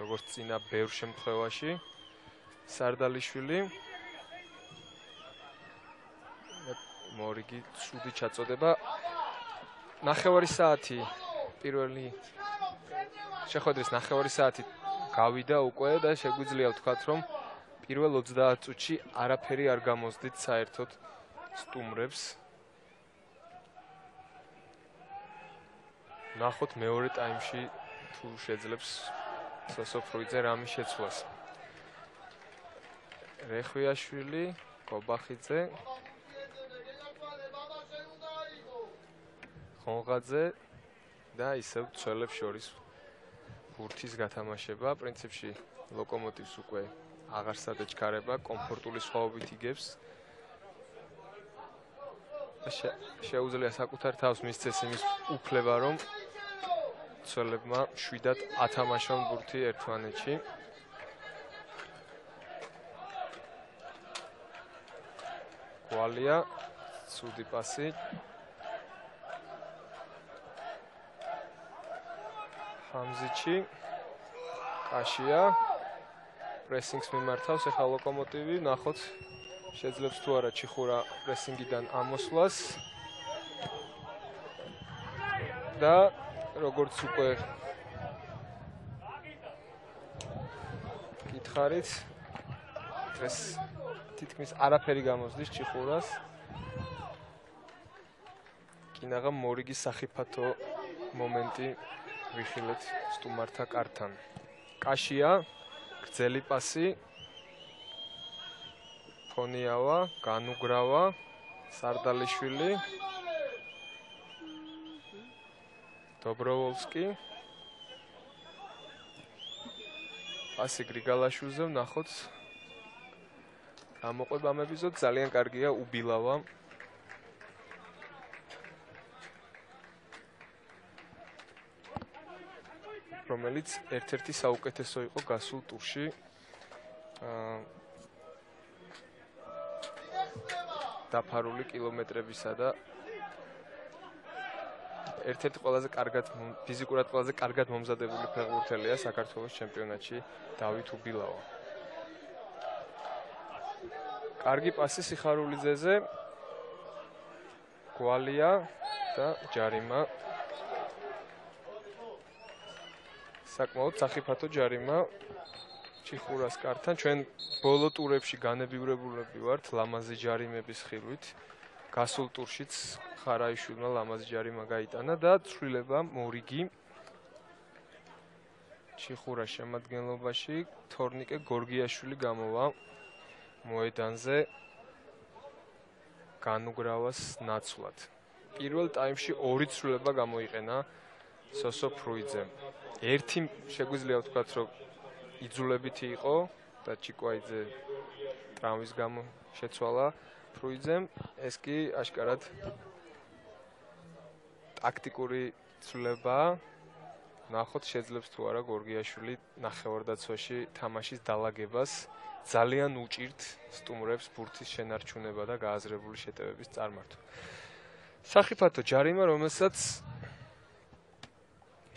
როგორც წინა ბევრ შემთხვევაში. სარდალიშვილი მორიგი ცუდი ჩაწოდება. ნახევარი საათი პირველი შეხვედრის ნახევარი საათი გავიდა უკვე და შეგვიძლია ვთქვათ, რომ პირველ ოცდაათ წუთში არაფერი არ გამოსდით საერთოდ სტუმრებს. ნახოთ მეორე ტაიმში თუ შეძლებს სოსო ფრუიძე რამის შეცვლას. რეხვიაშვილი, კობახიძე, ხონღაძე და ისევ ცველებს შორის ბურთის გათამაშება. პრინციპში ლოკომოტივს უკვე აღარ სადეჩქარება, კომფორტული სხვაობით იგებს. შეუძლია საკუთარ თავს მისცეს იმის უფლება, რომ ცველებმა შვიდად ათამაშონ ბურთი ერთმანეთში. გვალია, ცუდი პასი. ხამზიჩი, კაშია, პრესინგს მიმართავს ახლა ლოკომოტივი, ნახოთ შეძლებს თუ არა ჩიხურა პრესინგიდან ამოსვლას. და როგორც უკვე გითხარით, ეს თითქმის არაფერი გამოსდის ჩიხურას. კინაღა მორიგის სახიფათო მომენტი ვიხილეთ სტუმართა კართან. კაშია, გრძელი პასი. ფონიავა, განუგრავა, სარდალიშვილი. დობროვოლსკი. პასი გრიგალაშვილზე, ნახოთ. გამოყვება ამ ეპიზოდს, ძალიან კარგია უბილავა. რომელიც ერთ-ერთი საუკეთესო იყო გასულ ტურში. დაფარული კილომეტრებისა და ერთ-ერთი ყველაზე კარგად ფიზიკურად ყველაზე კარგად მომზადებული ფეხბურთელია საქართველოს ჩემპიონატში დავით უბილავა. კარგი პასი სიხარულიძეზე. გვალია და ჯარიმა. საკმაოდ სახიფათო ჯარიმა ჩიხურას კართან. ჩვენ ბოლო ტურებში განებივრებულები ვართ ლამაზი ჯარიმების ხილვით. გასულ ტურშიც ხარაიშვილმა ლამაზი ჯარიმა გაიტანა და ცვლილება მორიგი ჩიხურას შემადგენლობაში. თორნიკე გორგიაშვილი გამოვა მოედანზე განუგრავას ნაცვლად. პირველ ტაიმში ორი ცვლილება გამოიყენა სოსო ფრუიძემ. ერთი შეგვიძლია ვთქვათ, რომ იძულებითი იყო და ჩიკვაიძე ტრავმის გამო შეცვალა ფრუიძემ. ეს კი აშკარად ტაქტიკური ცვლილებაა. ნახოთ შეძლებს თუ არა გორგიაშვილი ნახევარდაცვაში თამაშის დალაგებას. ძალიან უჭირთ სტუმრებს ბურთის შენარჩუნება და გააზრებული შეტევების წარმართვა. სახიფათო ჯარიმა, რომელსაც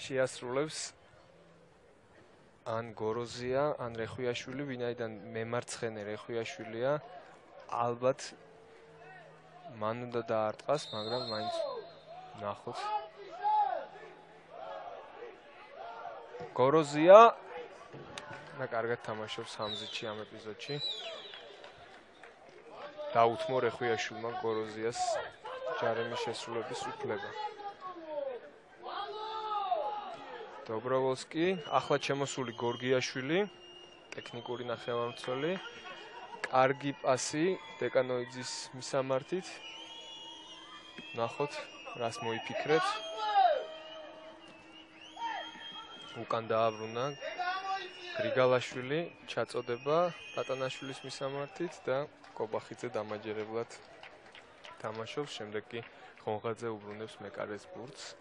შეასრულებს ან გოროზია, ან რეხვიაშვილი, ვინაიდან მემარცხენე რეხვიაშვილია, ალბათ მან უნდა დაარტყას, მაგრამ მაინც ნახოთ. გოროზია და კარგად თამაშობს ხამზიჩი ამ ეპიზოდში. დაუთმო რეხვიაშვილმა გოროზიას ჯარიმის შესრულების უფლება. დობროვოლსკი, ახლა შემოსული გორგიაშვილი, ტექნიკური ნახევარმცველი. კარგი პასი დეკანოიძის მისამართით. ნახოთ, რას მოიფიქრებს. უკან დააბრუნა გრიგალაშვილი, ჩაწოდება პატანაშვილის მისამართით და კობახიძე დამაჯერებლად თამაშობს. შემდეგ კი ხონღაძე უბრუნებს მეკარეს ბურთს.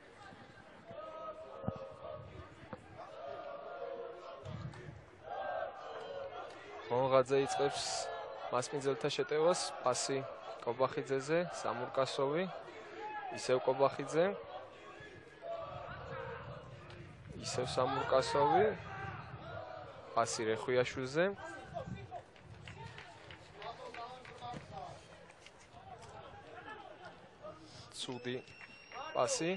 ხონღაძე იწყებს მასპინძელთა შეტევას. პასი კობახიძეზე, სამურკასოვი, ისევ კობახიძე, ისევ სამურკასოვი, პასი რეხვიაშვილზე. ცუდი პასი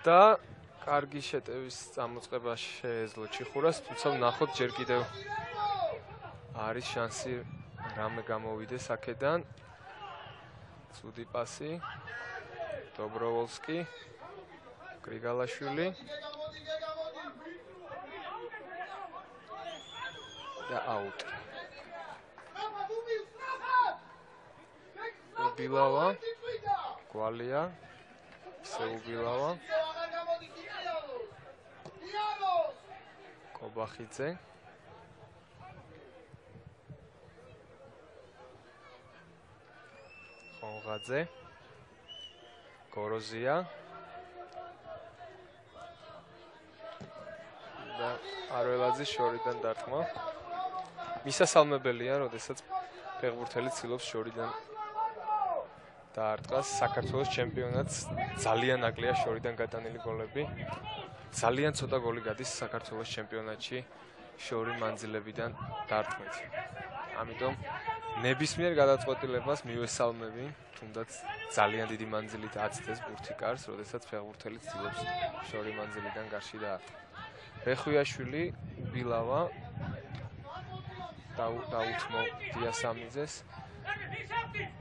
და კარგი შეტევის წამოწყება შეეძლო ჩიხურას, თუმცა ვნახოთ ჯერ კიდევ არის შანსი რამე გამოვიდეს აქედან. ცუდი პასი. დობროვოლსკი. გრიგალაშვილი. და აუტ. უბილავა. გვალია. ისე უბილავა. კობახიძე. ხონღაძე. გოროზია. და არველაძის შორიდან დარტყმა. მისასალმებელია, როდესაც ფეხბურთელი ცდილობს შორიდან დაარტყას. საქართველოს ჩემპიონატს ძალიან აკლია შორიდან გატანილი გოლები. ძალიან ცოტა გოლი გადის საქართველოს ჩემპიონატში შორი მანძილებიდან დარტყმით. ამიტომ ნებისმიერ გადაწყვეტილებას მივესალმები, თუნდაც ძალიან დიდი მანძილით აცდეს ბურთი კარს, როდესაც ფეხბურთელი ცდილობს შორი მანძილიდან გარში დაარტყა. რეხვიაშვილი, უბილავა დაუთმო დიასამიძეს.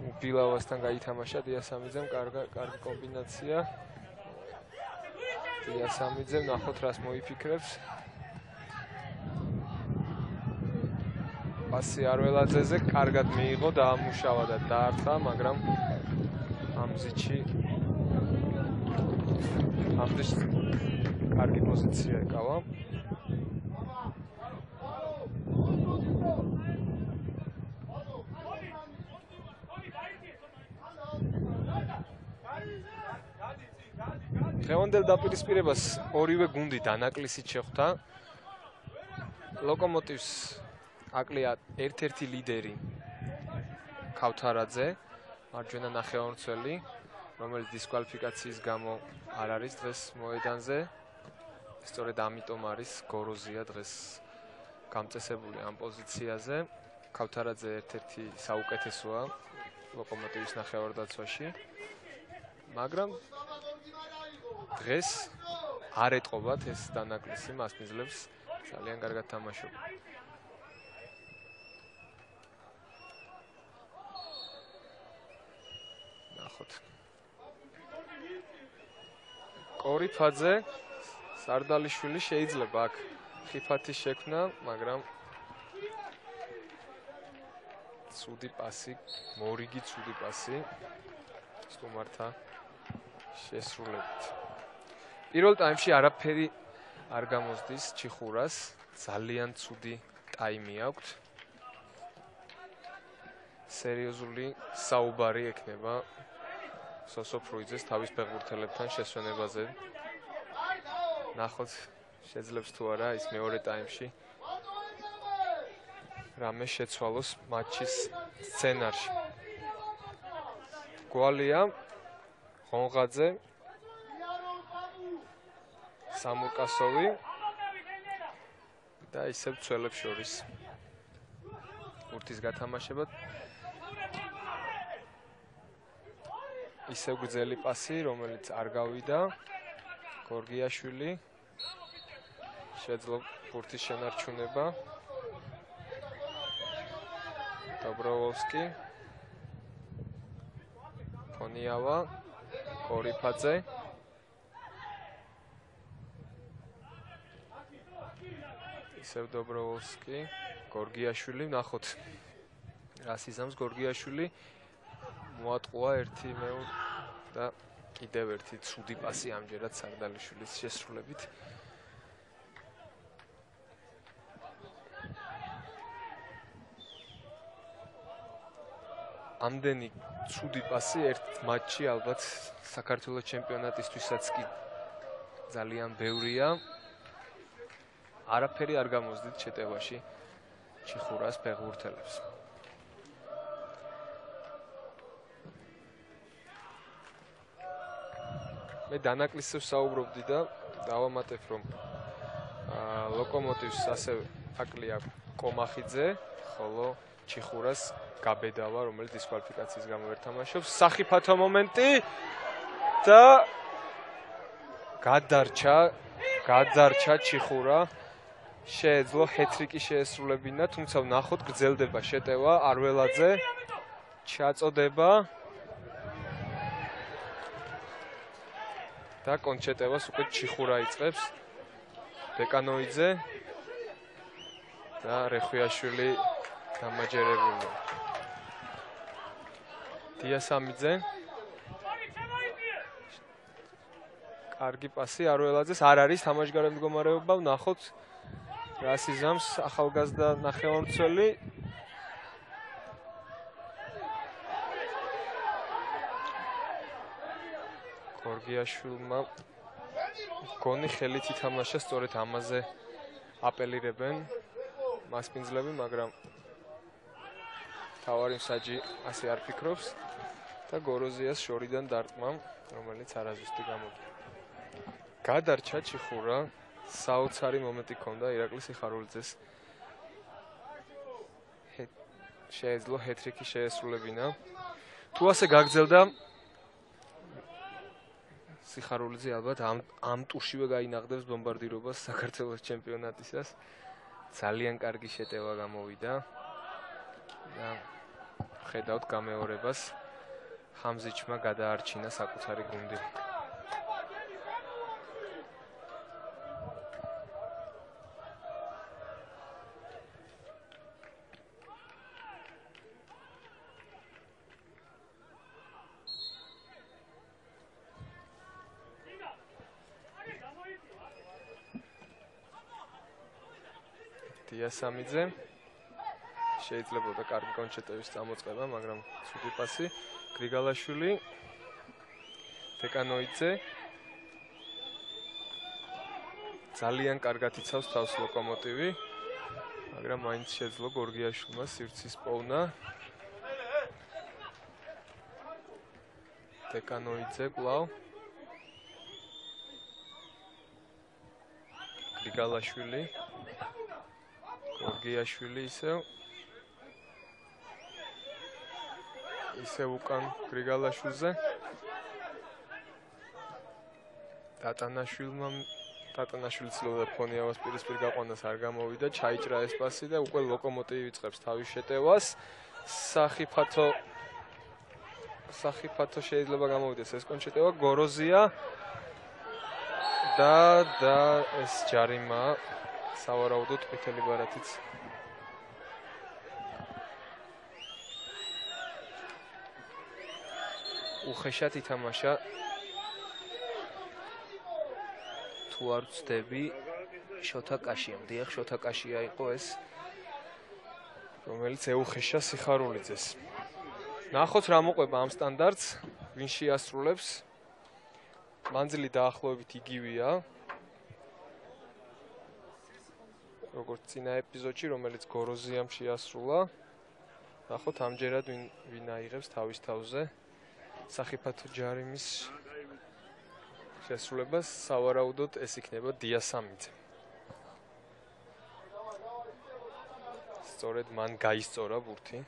უბილავასთან გაითამაშა დიასამიძემ, კარგი კომბინაცია. დიასამიძე, ნახოთ რას მოიფიქრებს. პასი არველაძეზე კარგად მიიღო, დაამუშავა და დაარტყა, მაგრამ ამ ზიდში ამდენ კარგი პოზიცია ეკავა. დღევანდელ დაპირისპირებას ორივე გუნდი დანაკლისით შეხვდა. ლოკომოტივს აკლია ერთ-ერთი ლიდერი ქავთარაძე, მარჯვენა ნახევარმცველი, რომელიც დისკვალიფიკაციის გამო არ არის დღეს მოედანზე. სწორედ ამიტომ არის გოროზია დღეს გამწესებული ამ პოზიციაზე. ქავთარაძე ერთ-ერთი საუკეთესოა ლოკომოტივის ნახევარდაცვაში. მაგრამ დღეს არ ეტყობათ ეს დანაკლისი, მას მისძლევს ძალიან კარგად თამაშობა. ნახოთ. კორიფაძე, სარდალიშვილი შეიძლება აქ ხიფათის შექმნა, მაგრამ ცუდი პასი, მორიგი ცუდი პასი სტუმართა შესრულებით. პირველ ტაიმში არაფერი არ გამოსდის ჩიხურას, ძალიან ცუდი ტაიმი აქვს. სერიოზული საუბარი ექნება სოსო ფრუიძეს თავის ფეხბურთელებთან შესვენებაზე. ნახოთ შეძლებს თუ არა ის მეორე ტაიმში რამე შეცვალოს მატჩის სცენარში. გვალია, ხონღაძე, სამურკასოვი და ისევ ცველებს შორის ბურთის გათამაშება. ისევ გრძელი პასი, რომელიც არ გავიდა. გორგიაშვილი შეძლო ბურთის შენარჩუნება. დობროვოლსკი, ფონიავა, კორიფაძე. ისევ დობროვოლსკი, გორგიაშვილი, ნახოთ რას იზამს გორგიაშვილი. მოატყუა ერთი მეორე და კიდევ ერთი ცუდი პასი ამჯერად სარდალიშვილის შესრულებით. ამდენი ცუდი პასი ერთ მატჩში ალბათ საქართველოს ჩემპიონატისთვისაც კი ძალიან ბევრია. არაფერი არ გამოსდით შეტევაში ჩიხურას ფეხბურთელებს. მე დანაკლისებს საუბრობდი და დავამატებ, რომ ლოკომოტივს ასევე აკლია კომახიძე, ხოლო ჩიხურას გაბედავა, რომელიც დისკვალიფიკაციის გამო ვერ თამაშობს. სახიფათო მომენტი და გადარჩა, გადარჩა ჩიხურა. შეეძლო ჰეტრიკი შეესრულებინა, თუმცა ვნახოთ გრძელდება შეტევა არველაძე. ჩაწოდება და კონჩეტევას უკვე ჩიხურა იწყებს. ბეკანოიძე და რეხვიაშვილი დამაჯერებული. დიასამიძე. კარგი პასი არველაძეს, არ არის თამაშგარე მდგომარეობა, ვნახოთ რას იზამს ახალგაზრდა ნახევარმცველი. გორგიაშვილმა გონი ხელით ითამაშა, სწორედ ამაზე აპელირებენ მასპინძლები, მაგრამ თავარი მსაჯი ასე არ ფიქრობს და გოროზიას შორიდან დარტყმა, რომელიც არაზუსტი გამოდგა. გადარჩა ჩიხურა, საოცარი მომენტი ჰქონდა ირაკლი სიხარულიძეს. შეეძლო ჰეტრიკი შეესრულებინა. თუ ასე გაგრძელდა სიხარულიძე ალბათ ამ ამ ტურშივე გაინაღდებს ბომბარდირობას საქართველოს ჩემპიონატისას. ძალიან კარგი შეტევა გამოვიდა და ხედავთ გამეორებას. ხამზიჩმა გადაარჩინა საკუთარი გუნდი. დიასამიძე შეიძლებოდა კარგი კონჩეტევის წამოწყება, მაგრამ ცუდი პასი. გრიგალაშვილი, ბეკანოიძე ძალიან კარგად იცავს თავს ლოკომოტივი, მაგრამ მაინც შეძლო გორგიაშვილმა სივრცის პოვნა. ბეკანოიძე კვლავ. გრიგალაშვილი, გორგიაშვილი ისევ ისევ უკან გრიგალაშვილზე. დატანაშვილმა დატანაშვილი ცდილობდა ფონიავას პირისპირ გაყვანას, არ გამოვიდა, ჩაიჭრა ეს პასი და უკვე ლოკომოტივი იწყებს თავის შეტევას. სახიფათო სახიფათო შეიძლება გამოვიდეს ეს კონჩეტევა, გოროზია და და ეს ჯარიმა სავარაუდოდ ყვითელი ბარათიც უხეშად ითამაშა. თუ არ ვცდები, შოთა კაშია, მდიახ, შოთა კაშია იყო ეს, რომელიც ეუხეშა სიხარულიძეს. ნახოთ რა მოყვება ამ სტანდარტს, ვინ შეასრულებს. მანძილი დაახლოებით იგივეა, როგორც წინა ეპიზოდში, რომელიც გოროზიამ შეასრულა. ნახოთ ამჯერად ვინ ვინ აიღებს თავის თავზე სახიფათო ჯარიმის შესრულებას. სავარაუდოდ ეს იქნება დიასამიძე. სწორედ მან გაისწორა ბურთი.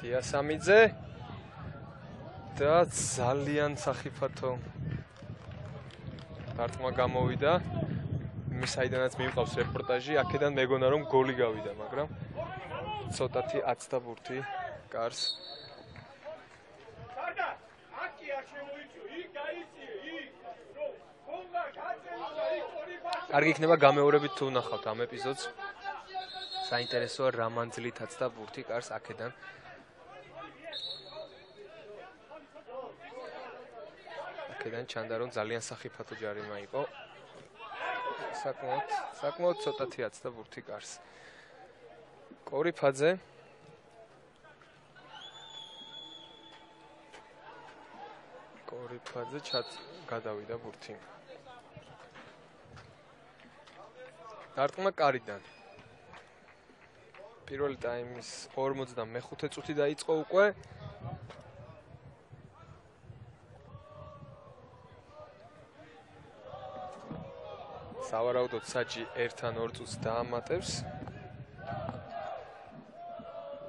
დიასამიძე და ძალიან სახიფათო დარტყმა გამოვიდა. იმის საიდანაც მივყავს რეპორტაჟი, აქედან მეგონა რომ გოლი გავიდა, მაგრამ ცოტათი აცდა ბურთი კარს. კარგი იქნება გამეორებით თუ ვნახავთ ამ ეპიზოდს. საინტერესოა რა მანძილით აცდა ბურთი კარს აქედან. აქედან ჩანდა რომ ძალიან სახიფათო ჯარიმა იყო. საკმაოდ საკმაოდ ცოტათი აცდა ბურთი კარს. კორიფაძე კორიფაძე ჩაც გადავიდა ბურთი. დარტყმა კარიდან. პირველი ტაიმის ორმოცდამეხუთე წუთი დაიწყო უკვე. სავარაუდოდ საჯი ერთ ან ორ წუთს დაამატებს.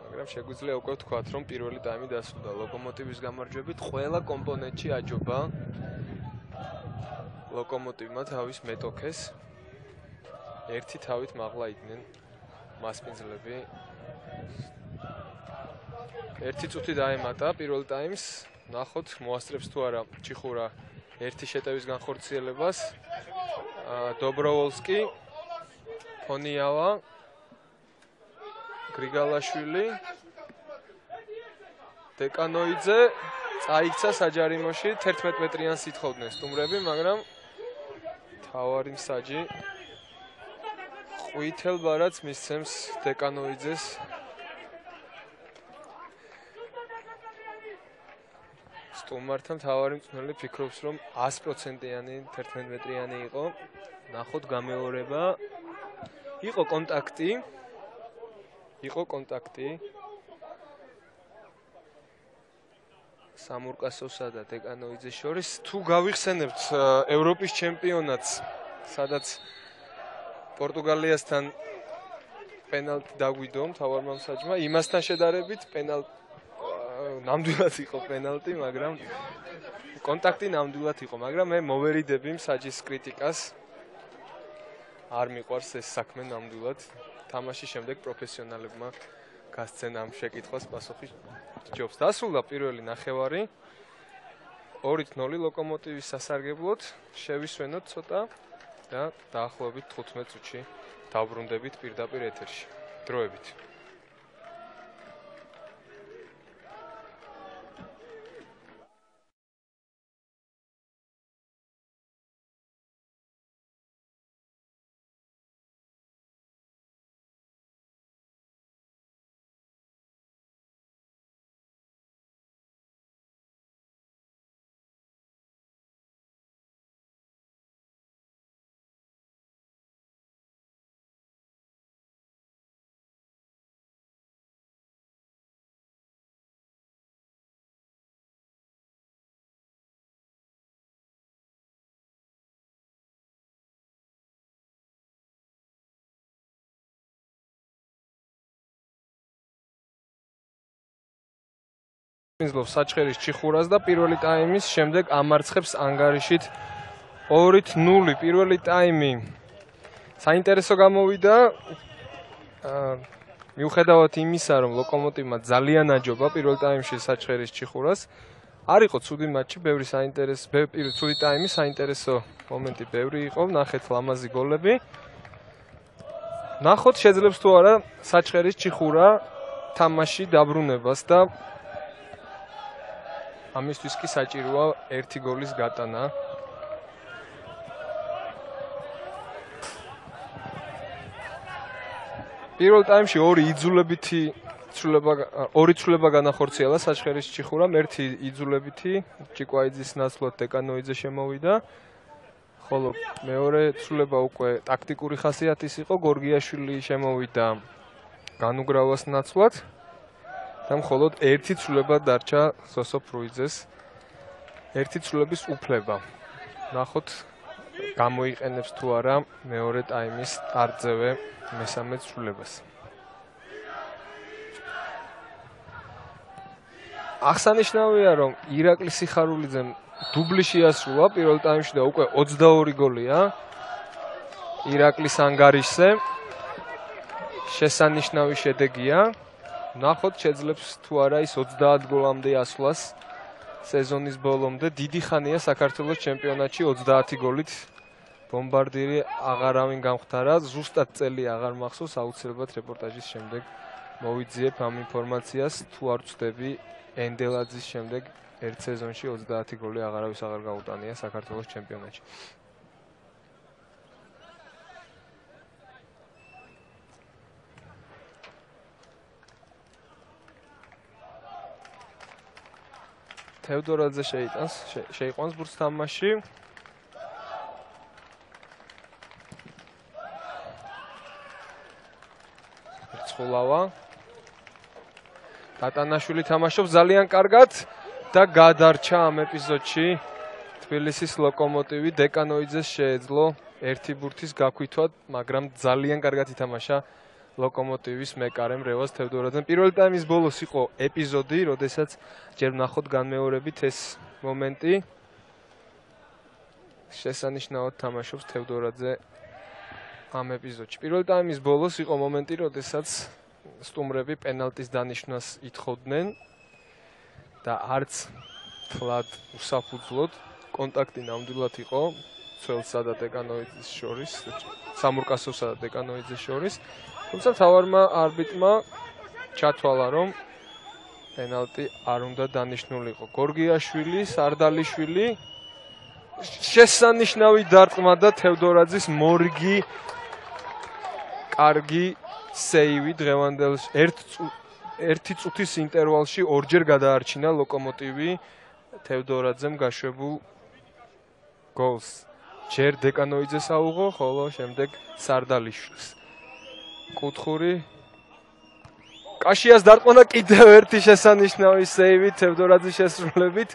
მაგრამ შეგვიძლია უკვე ვთქვათ, რომ პირველი ტაიმი დასრულდა ლოკომოტივის გამარჯვებით. ყველა კომპონენტში აჯობა ლოკომოტივმა თავის მეტოქეს. ერთი თავით მაღლა იდნენ მასპინძლები. ერთი წუთი დაემატა პირველ ტაიმს. ნახოთ, მოასწრებს თუ არა ჩიხურა ერთი შეტევის განხორციელებას. დობროვოლსკი, ფონიავა, გრიგალაშვილი, დეკანოიძე წაიქცა საჯარიმოში, თერთმეტ მეტრიანს ითხოვდნენ სტუმრები, მაგრამ თავარი მსაჯი ყვითელ ბარათს მისცემს დეკანოიძეს. სტუმართა მთავარი მწვრთნელი ფიქრობს, რომ ას პროცენტიანი თერთმეტ მეტრიანი იყო. ნახოთ გამეორება. იყო კონტაქტი. იყო კონტაქტი. სამურკასოვსა და დეკანოიძეს შორის. თუ გავიხსენებთ ევროპის ჩემპიონატს, სადაც პორტუგალიასთან პენალტი დაგვიდო მთავარმა მსაჯმა, იმასთან შედარებით პენალტი ნამდვილად იყო პენალტი, მაგრამ კონტაქტი ნამდვილად იყო, მაგრამ მე მოვერიდები მსაჯის კრიტიკას. არ მიყვარს ეს საქმე ნამდვილად. თამაშის შემდეგ პროფესიონალებმა გასცენ ამ შეკითხვას პასუხი ჯობს. დასრულდა პირველი ნახევარი. ორი ნული ლოკომოტივის სასარგებლოდ. შევისვენოთ ცოტა და დაახლოებით თხუთმეტ წუთში დავბრუნდებით პირდაპირ ეთერში. დროებით. მიზლობს საჩხერის ჩიხურას და პირველი ტაიმის შემდეგ ამარცხებს ანგარიშით ორი ნული. პირველი ტაიმი საინტერესო გამოვიდა. მიუხედავად იმისა, რომ ლოკომოტივმა ძალიან აჯობა პირველ ტაიმში საჩხერის ჩიხურას, არ იყო ცუდი მატჩი, ბევრი საინტერესო, ბევრი ცუდი ტაიმი, საინტერესო მომენტი ბევრი იყო, ნახეთ ლამაზი გოლები. ნახოთ შეძლებს თუ არა საჩხერის ჩიხურა თამაში დაბრუნებას და ამისთვის კი საჭიროა ერთი გოლის გატანა. პირველ ტაიმში ორი იძულებითი ცვლილება ორი ცვლილება განახორციელა საჩხერის ჩიხურამ, ერთი იძულებითი ჭიკვაიძის ნაცვლად დეკანოიძე შემოვიდა. ხოლო მეორე ცვლილება უკვე ტაქტიკური ხასიათის იყო, გორგიაშვილი შემოვიდა განუგრავას ნაცვლად. და მხოლოდ ერთი ცვლილება დარჩა სოსო ფრუიძეს. ერთი ცვლილების უფლება. ნახოთ გამოიყენებს თუ არა მეორე ტაიმის სტარტზე მესამე ცვლილებას. აღსანიშნავია, რომ ირაკლი სიხარულიძემ დუბლი შეასრულა პირველ ტაიმში და უკვე ოცდაორი გოლია ირაკლის ანგარიშზე. შესანიშნავი შედეგია. ნახოთ შეძლებს თუ არა ის ოცდაათ გოლამდე ასვლას სეზონის ბოლომდე. დიდი ხანია საქართველოს ჩემპიონატში ოცდაათი გოლით ბომბარდირი აღარავინ გამختარა. ზუსტად წელი აღარ მახსოვს, აუცილებლად რეპორტაჟის შემდეგ მოვიძიებ ამ ინფორმაციას. თუ არ ვწდები, ენდელაძის შემდეგ ერთ სეზონში ოცდაათი გოლი აღარავის აღარ გაუტანია საქართველოს ჩემპიონატში. თევდორაძე შეიტანს, შეიყვანს ბურთს თამაში. ირცხულავა. დატანაშვილი თამაშობს ძალიან კარგად და გადარჩა ამ ეპიზოდში თბილისის ლოკომოტივი. დეკანოიძეს შეეძლო ერთი ბურთის გაქვითვა, მაგრამ ძალიან კარგად ითამაშა ლოკომოტივის მეკარემ რევაზ თევდორაძემ. პირველი ტაიმის ბოლოს იყო ეპიზოდი, როდესაც ჯერ ვნახოთ განმეორებით ეს მომენტი. შესანიშნავად თამაშობს თევდორაძე ამ ეპიზოდში. პირველი ტაიმის ბოლოს იყო მომენტი, როდესაც სტუმრები პენალტის დანიშნვას ითხოვდნენ და არც თლად უსაფუძვლოდ კონტაქტი ნამდვილად იყო ცველსა და დეკანოიძის შორის, სამურკასოვსა და დეკანოიძის შორის. თუმცა თავარმა არბიტრმა ჩათვალა, რომ პენალტი არ უნდა დანიშნულიყო. გორგიაშვილი, სარდალიშვილი შესანიშნავი დარტყმა და თევდორაძის მორგი კარგი სეივი დღევანდელ ერთი წუთის ინტერვალში ორჯერ გადაარჩინა ლოკომოტივი თევდორაძემ გაშვებულ გოლს. ჯერ დეკანოიძეს აუღო, ხოლო შემდეგ სარდალიშვილს. კუთხური კაშიას დარტყმა და კიდევ ერთი შესანიშნავი სეივი თევდორაძის შესრულებით.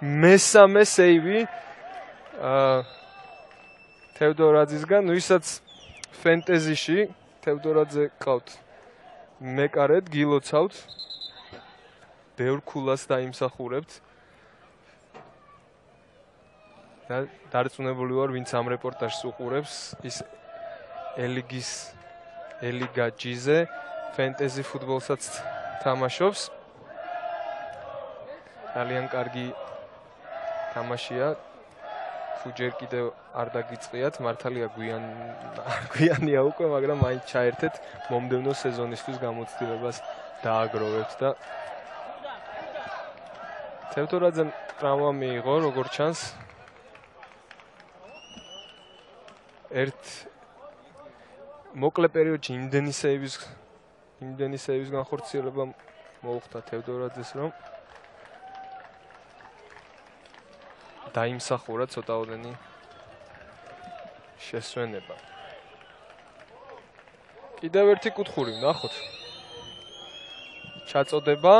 მესამე სეივი თევდორაძისგან, ვისაც ფენტეზიში თევდორაძე ყავთ მეკარედ, გილოცავთ, ბევრ ქულას დაიმსახურებთ და დარწმუნებული ვარ, ვინც ამ რეპორტაჟს უყურებს, ის ელიგის ელიგა ჯიზე ფენტეზი ფუტბოლსაც თამაშობს. ძალიან კარგი თამაშია. თუ ჯერ კიდევ არ დაგიწყიათ, მართალია გვიან გვიანია უკვე, მაგრამ მაინც ჩაერთეთ მომდევნო სეზონისთვის გამოცდილებას დააგროვებთ და თევდორაძემ ტრავმა მიიღო, როგორც ჩანს. ერთ მოკლე პერიოდში იმდენი სეივის იმდენი სეივის განხორციელება მოუხდა თევდორაძეს, რომ დაიმსახურა ცოტაოდენი შესვენება. კიდევ ერთი კუთხური ვნახოთ. ჩაწოდება.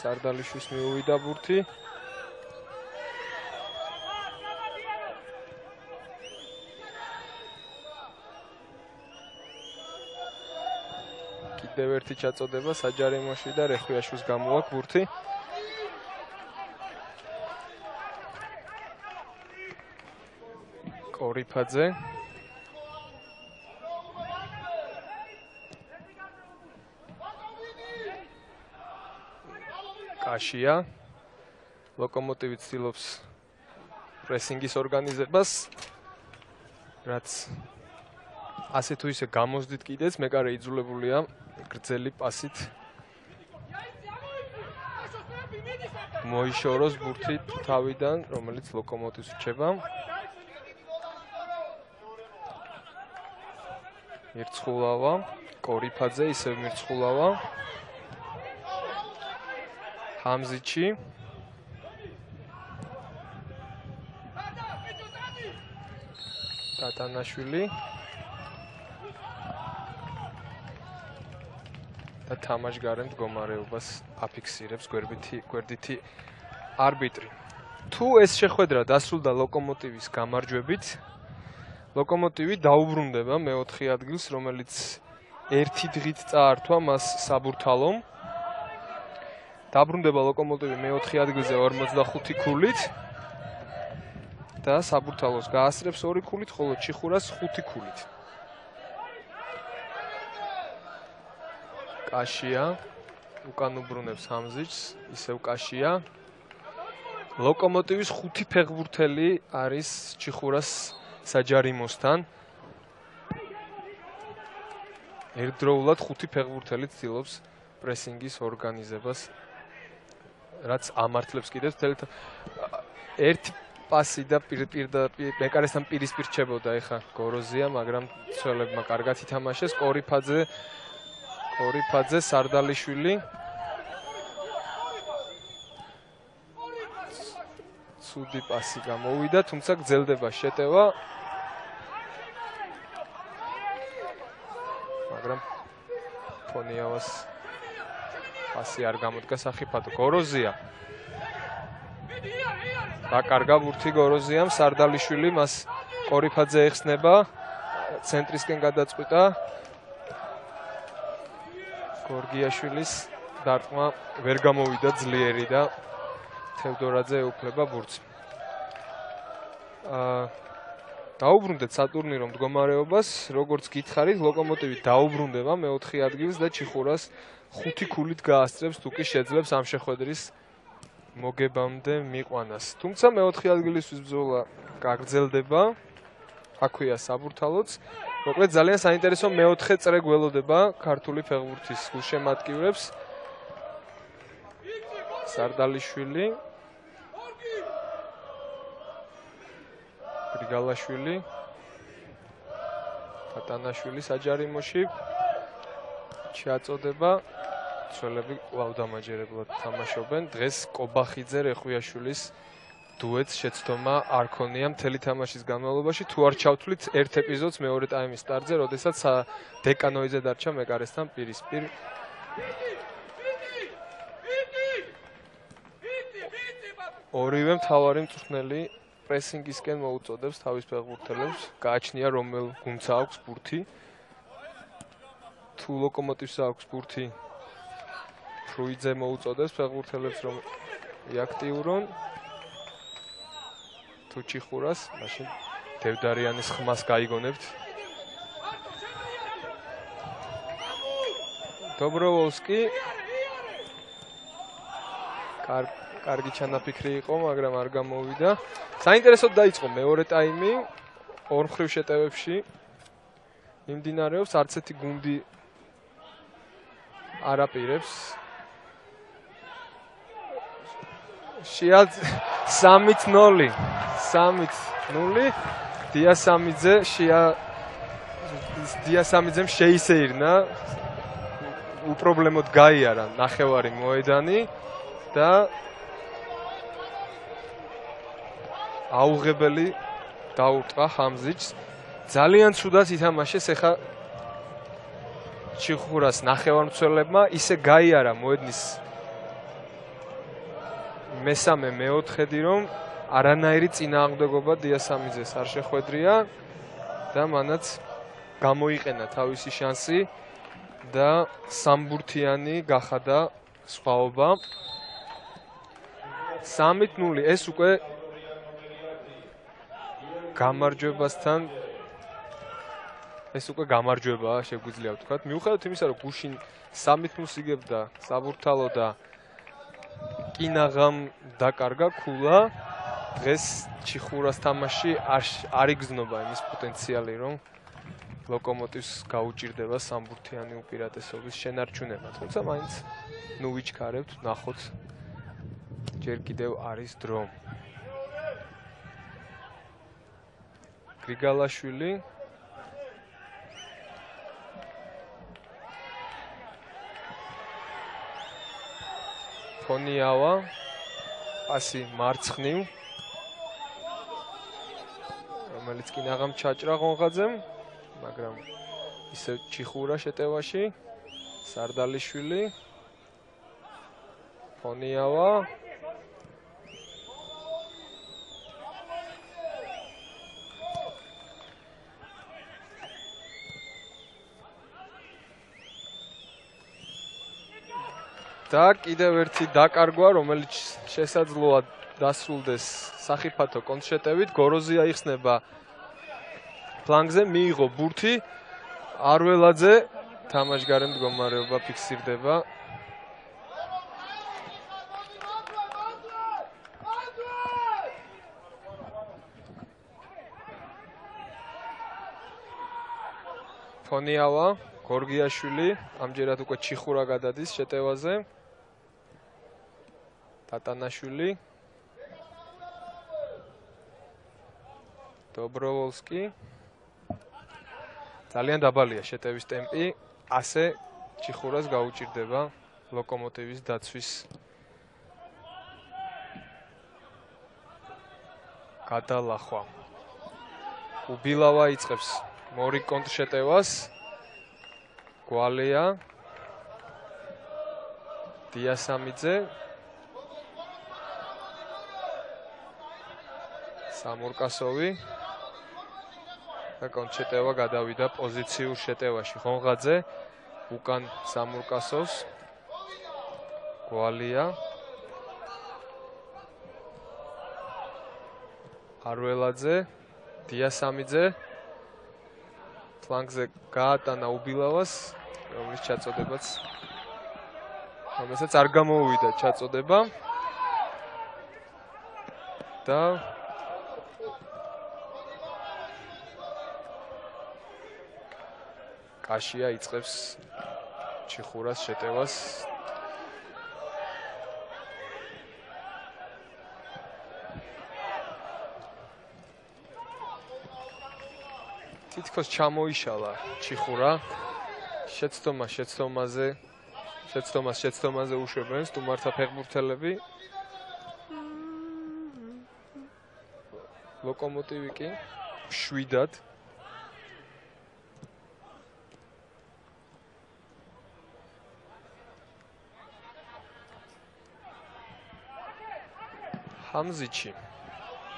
სარდალიშვილს მიუვიდა ბურთი. კიდევ ერთი ჩაწოდება საჯარიმოში და რეხვიაშვილს გამოაქვს ბურთი. კორიფაძე. კაშია. ლოკომოტივი ცდილობს პრესინგის ორგანიზებას, რაც ასე თუ ისე გამოსდით კიდეც, მეკარე იძულებულია გრძელი პასით მოიშოროს ბურთი თავიდან, რომელიც ლოკომოტივს რჩება. მირცხულავა, კორიფაძე ისევ მირცხულავა. ჰამზიჩი. დატანაშვილი. და თამაშგარე მდგომარეობას აფიქსირებს გვერდითი გვერდითი არბიტრი. თუ ეს შეხვედრა დასრულდა ლოკომოტივის გამარჯვებით, ლოკომოტივი დაუბრუნდება მეოთხე ადგილს, რომელიც ერთი დღით წაართვა მას საბურთალომ. დაბრუნდება ლოკომოტივი მეოთხე ადგილზე ორმოცდახუთი ქულით და საბურთალოს გაასწრებს ორი ქულით, ხოლო ჩიხურას ხუთი ქულით. კაშია უკან უბრუნებს ჰამზიჩს, ისევ კაშია. ლოკომოტივის ხუთი ფეხბურთელი არის ჩიხურას საჯარიმოსთან. ერთდროულად ხუთი ფეხბურთელი ცდილობს პრესინგის ორგანიზებას, რაც ამართლებს კიდევ თელთ ერთი პასი და პირდაპირ მეკარესთან პირისპირ რჩებოდა ეხა გოროზია, მაგრამ ცველებმა კარგად ითამაშეს. კორიფაძე კორიფაძე, სარდალიშვილი. ცუდი პასი გამოვიდა, თუმცა გრძელდება შეტევა. მაგრამ ფონიავას პასი არ გამოდგა სახიფათო. გოროზია. დაკარგა ბურთი გოროზიამ, სარდალიშვილი მას ყორიფაძე ეხსნება, ცენტრისკენ გადაწყვიტა. გორგიაშვილის დარტყმა ვერ გამოვიდა ძლიერი და თევდორაძე ეუფლება ბურთს. აა დაუბრუნდეთ სატურნირო მდგომარეობას, როგორც გითხარით, ლოკომოტივი დაუბრუნდება მეოთხე ადგილს და ჩიხურას ხუთი ქულით გაასწრებს, თუ კი შეძლებს ამ შეხვედრის მოგებამდე მიყვანას. თუმცა მეოთხე ადგილისთვის ბრძოლა გაგრძელდება. აქვეა საბურთალოც. მოკლედ ძალიან საინტერესო მეოთხე წრე გველოდება ქართული ფეხბურთის გულშემატკივრებს. სარდალიშვილი, გრიგალაშვილი, ფატანაშვილი საჯარიმოში შეაწოდება. ცველები კვლავ დამაჯერებლად თამაშობენ. დღეს კობახიძე რეხვიაშვილის დუეტს შეცდომა არ ქონია მთელი თამაშის განმავლობაში. თუ არ ჩავთვლით ერთ ეპიზოდს მეორე ტაიმის სტარტზე, როდესაც დეკანოიძე დარჩა მეკარესთან პირისპირ. ორივე მთავარი მწვრთნელი პრესინგისკენ მოუწოდებს თავის ფეხბურთელებს. გააჩნია რომელ გუნდს აქვს ბურთი. თუ ლოკომოტივს აქვს ბურთი, ფრუიძე მოუწოდებს ფეხბურთელებს რომ იაქტიურონ. თუ ჩიხურას, მაშინ დევდარიანის ხმას გაიგონებთ. დობროვოლსკი კარგი ჩანაფიქრი იყო, მაგრამ არ გამოვიდა. საინტერესოდ დაიწყო მეორე ტაიმი. ორ მხრივ შეტევებში მიმდინარეობს, არც ერთი გუნდი არ აპირებს. შეად სამით ნული. სამით ნული. დიასამიძე შეა დიასამიძემ შეისეირნა. უპრობლემოდ გაიარა ნახევარი მოედანი და აუღებელი დაურტყა ხამზიჩს. ძალიან ცუდად ითამაშეს ეხა ჩიხურას ნახევარმცველებმა, ისე გაიარა მოედნის მესამე მეოთხედი, რომ არანაირი წინააღმდეგობა დიასამიძეს არ შეხვედრია და მანაც გამოიყენა თავისი შანსი და სამბურთიანი გახადა სხვაობა. სამით ნული. ეს უკვე გამარჯვებასთან ეს უკვე გამარჯვებაა, შეგვიძლია ვთქვათ. მიუხედავად იმისა, რომ გუშინ სამით ნულს იგებდა საბურთალო და კინაღამ დაკარგა ქულა, დღეს ჩიხურას თამაში არ იგრძნობა იმის პოტენციალი, რომ ლოკომოტივს გაუჭირდება სამბურთიანი უპირატესობის შენარჩუნება. თუმცა მაინც ნუ ვიჩქარებთ, ნახოთ, ჯერ კიდევ არის დრო. გრიგალაშვილი, ფონიავა, პასი მარცხნივ, რომელიც კინაღამ ჩაჭრა ღონღაძემ, მაგრამ ისევ ჩიხურა შეტევაში. სარდალიშვილი, ფონიავა, და კიდევ ერთი დაკარგვა, რომელიც შესაძლოა დასრულდეს სახიფათო კონტრშეტევით. გოროზია იხსნება ფლანგზე, მიიღო ბურთი, არველაძე თამაშგარე მდგომარეობა ფიქსირდება. ფონიავა, გორგიაშვილი, ამჯერად უკვე ჩიხურა გადადის შეტევაზე. ტატანაშვილი, დობროვოლსკი. ძალიან დაბალია შეტევის ტემპი, ასე ჩიხურას გაუჭირდება ლოკომოტივის დაცვის გადალახვა. უბილავა იწყებს მორი კონტრშეტევას. გვალია დიასამიძე სამურკასოვი და კონჩეტევა გადავიდა პოზიციურ შეტევაში ხონღაძე უკან სამურკასოვს გვალია არველაძე დიასამიძე ფლანგზე გაატანა უბილავას რომლის ჩაწოდებაც რომელსაც არ გამოუვიდა ჩაწოდება და კაშია იწყებს ჩიხურას შეტევას თითქოს ჩამოიშალა ჩიხურა შეცდომა შეცდომაზე შეცდომას შეცდომაზე უშვებენ სტუმართა ფეხბურთელები ლოკომოტივი კი შვიდად ჰამზიჩი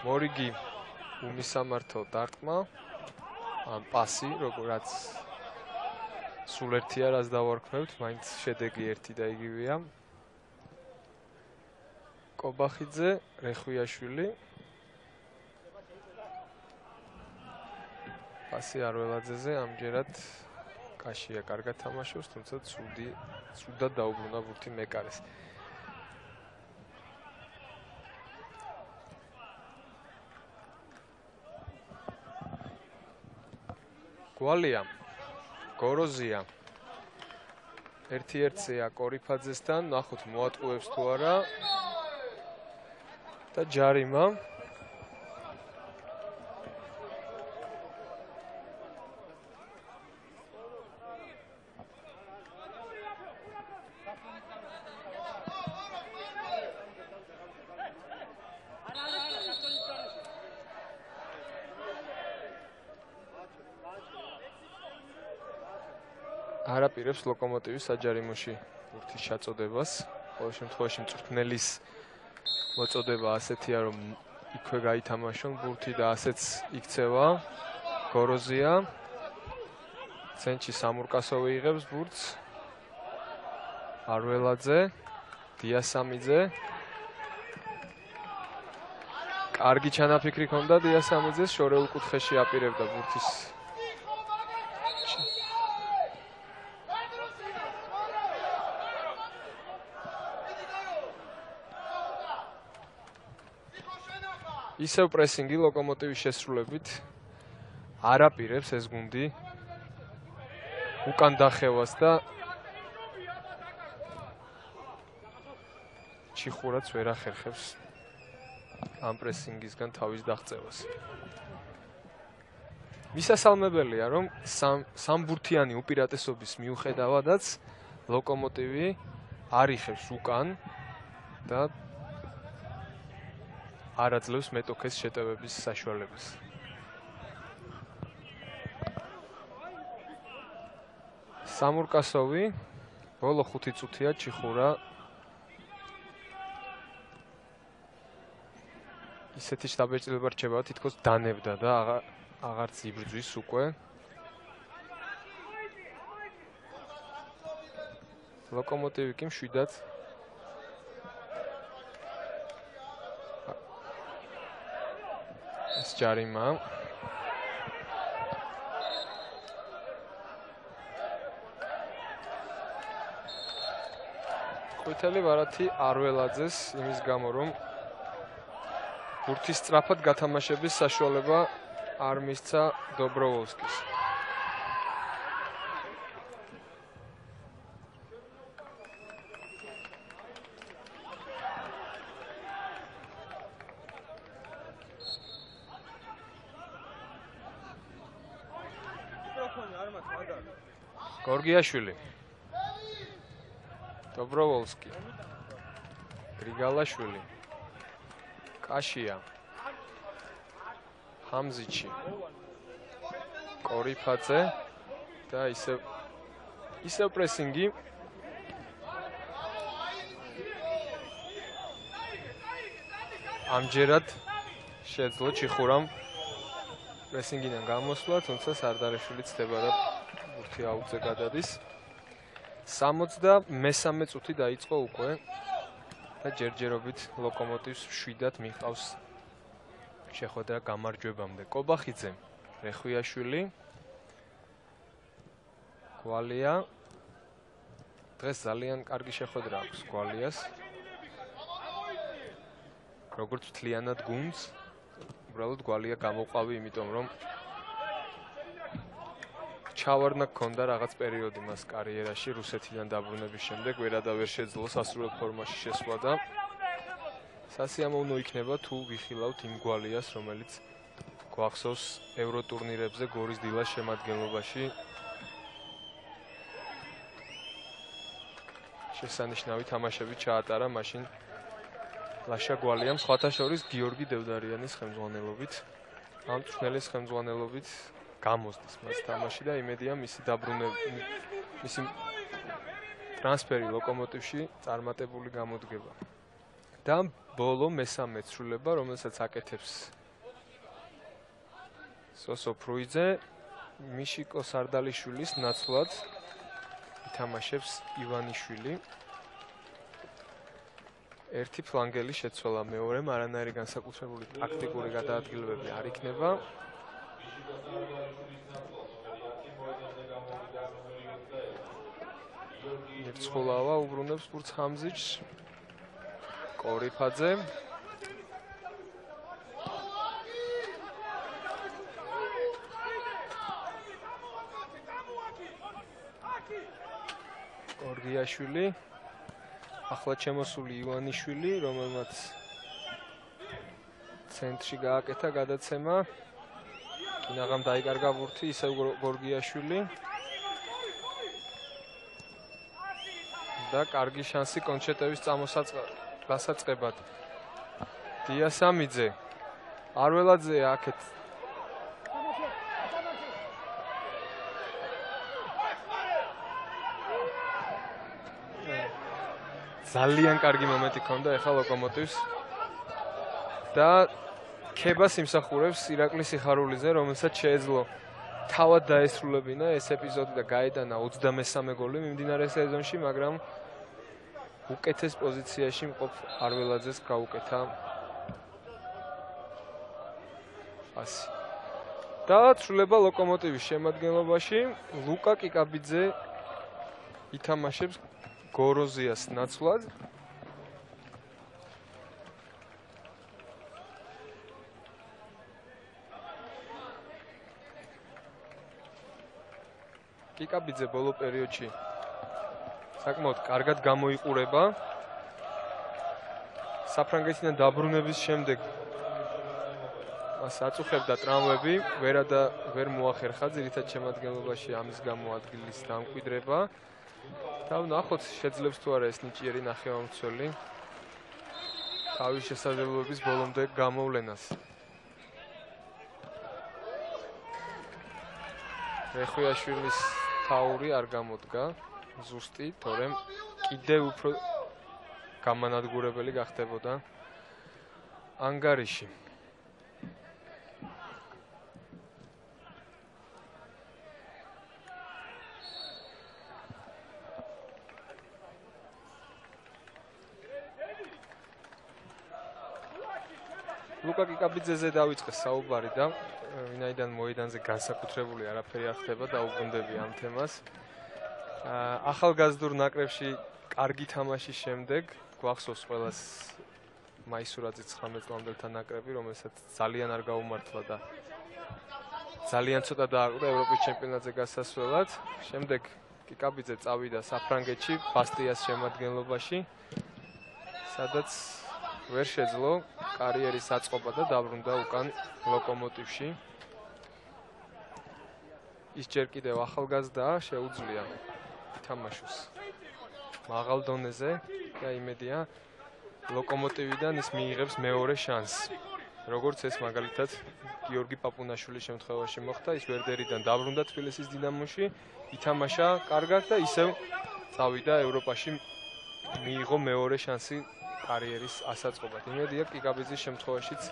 მორიგი უმისამართო დარტყმა ან პასი როგორც სულ ერთი არას დავარქმევთ მაინც შედეგი ერთი და იგივეა კობახიძე რეხვიაშვილი პასი არველაძეზე ამჯერად კაშია კარგად თამაშობს თუმცა ცუდი ცუდად დაუბრუნდა ბურთი მეკარეს გვალია გოროზია ერთ-ერთია კორიფაძესთან ნახოთ მოატყუებს თუ არა და ჯარიმა არაპირებს ლოკომოტივის საჯარიმოში ბურთის ჩაწოდებას. ყოველ შემთხვევაში მწვრთნელის მოწოდება ასეთია, რომ იქვე გაითამაშონ ბურთი და ასეც იქცევა. გოროზია ცენტრში სამურკასოვი იღებს ბურთს. არველაძე, დიასამიძე. კარგი ჩანაფიქრი ჰქონდა დიასამიძეს, შორეულ კუთხეში აპირებდა ბურთის ისევ პრესინგი ლოკომოტივის შესრულებით არაპირებს ეს გუნდი უკან დახევას და ჩიხურაც ვერ ახერხებს ამ პრესინგისგან თავის დაღწევას. მისასალმებელია, რომ სამბურთიანი უპირატესობის მიუხედავადაც ლოკომოტივი არ იხევს უკან და არ აძლევს მეტოქეს შეტევების საშუალებას. სამურკასოვი ბოლო ხუთი წუთია ჩიხურა ისეთი შტაბეჭდილება რჩება, თითქოს დანებდა და აღარც იბრძვის უკვე. ლოკომოტივი კი მშვიდად ეს ჯარიმა. ყვითელი ვარათი არველაძეს იმის გამო, რომ ბურთის სწრაფად გათამაშების საშუალება არ მისცა დობროვოლსკის. გორგიაშვილი, დობროვოლსკი, გრიგალაშვილი, კაშია, ჰამზიჩი, კორიფაძე და ისევ ისევ პრესინგი. ამჯერად შეძლო ჩიხურამ პრესინგიდან გამოსვლა, თუმცა სარდარეშვილი ცდება და ბურთი აუძე გადადის. სამოცდამესამე წუთი დაიწყო უკვე და ჯერჯერობით ლოკომოტივს შვიდად მიჰყავს შეხვედრა გამარჯვებამდე. კობახიძე, რეხვიაშვილი, გვალია. დღეს ძალიან კარგი შეხვედრა აქვს გვალიას. როგორც მთლიანად გუნდს, უბრალოდ გვალია გამოყავი, იმიტომ რომ ჩავარდნა ჰქონდა რაღაც პერიოდი მას კარიერაში რუსეთიდან დაბრუნების შემდეგ, ვერადა ვერ შეძლო სასრულო ფორმაში შესვლა და სასიამოვნო იქნება თუ ვიხილავთ იმ გვალიას, რომელიც გვახსოვს ევროტურნირებზე გორის დილას შემადგენლობაში შესანიშნავი თამაშები ჩაატარა მაშინ ლაშა გვალიამ, სხვათა შორის გიორგი დევდარიანის ხელმძღვანელობით, ამ წვრთნელის ხელმძღვანელობით გამოსდის მას თამაში და იმედია მისი დაბრუნება, მისი ტრანსფერი ლოკომოტივში წარმატებული გამოდგება. და ბოლო მესამე ცვლილება, რომელსაც აკეთებს სოსო ფრუიძე, მიშიკო სარდალიშვილის ნაცვლად ითამაშებს ივანიშვილი. ერთი ფლანგელი შეცვალა მეორემ, არანაირი განსაკუთრებული ტაქტიკური გადაადგილებები არ იქნება. ერთხოლავა უბრუნებს ბურთს ხამზიჩს. კორიფაძე. გორგიაშვილი. ახლა შემოსული ივანიშვილი, რომელმაც ცენტრში გააკეთა გადაცემა. კინაღამ დაიკარგა ბურთი, ისევ გორგიაშვილი. და კარგი შანსი კონჩეტევის დასაწყებად. დიასამიძე. არველაძე აქეთ. ძალიან კარგი მომენტი ჰქონდა ეხლა ლოკომოტივს და ქებას იმსახურებს ირაკლი სიხარულიძე, რომელსაც შეეძლო თავად დაესრულებინა ეს ეპიზოდი და გაეტანა ოცდამესამე გოლი მიმდინარე სეზონში, მაგრამ უკეთეს პოზიციაში მყოფ არველაძეს გაუკეთა პასი. და ცვლილება ლოკომოტივის შემადგენლობაში, ლუკა კიკაბიძე ითამაშებს გოროზიას ნაცვლად. კიკაბიძე ბოლო პერიოდში საკმაოდ კარგად გამოიყურება. საფრანგეთიდან დაბრუნების შემდეგ მას აწუხებდა ტრამვები, ვერადა ვერ მოახერხა ძირითად შემადგენლობაში ამის გამო ადგილის დამკვიდრება. და ვნახოთ შეძლებს თუ არა ეს ნიჭიერი ნახევარმცველი თავის შესაძლებლობების ბოლომდე გამოვლენას. რეხვიაშვილის თაური არ გამოდგა ზუსტი, თორემ კიდევ უფრო გამანადგურებელი გახდებოდა ანგარიში. ლუკა კიკაბიძეზე დავიწყეს საუბარი და ვინაიდან მოედანზე განსაკუთრებული არაფერი არ ხდება და უგუნდები ამ თემას. ახალგაზრდულ ნაკრებში კარგი თამაშის შემდეგ გვახსოვს ყველას მაისურაძის ცხრამეტ წლამდელთა ნაკრები, რომელსაც ძალიან არ გაუმართლა და ძალიან ცოტა დააყრდა ევროპის ჩემპიონატზე გასასვლელად. შემდეგ კიკაბიძე წავიდა საფრანგეთში, ბასტიას შემადგენლობაში, სადაც ვერ შეძლო კარიერის აწყობა და დაბრუნდა უკან ლოკომოტივში. ის ჯერ კიდევ ახალგაზრდაა, შეუძლია ითამაშოს მაღალ დონეზე და იმედია ლოკომოტივიდან ის მიიღებს მეორე შანსს. როგორც ეს მაგალითად გიორგი პაპუნაშვილის შემთხვევაში მოხდა, ის ვერდერიდან დაბრუნდა თბილისის დინამოში, ითამაშა კარგად და ისევ წავიდა ევროპაში, მიიღო მეორე შანსი კარიერის ასაწყობად. იმედია კიკაბიძის შემთხვევაშიც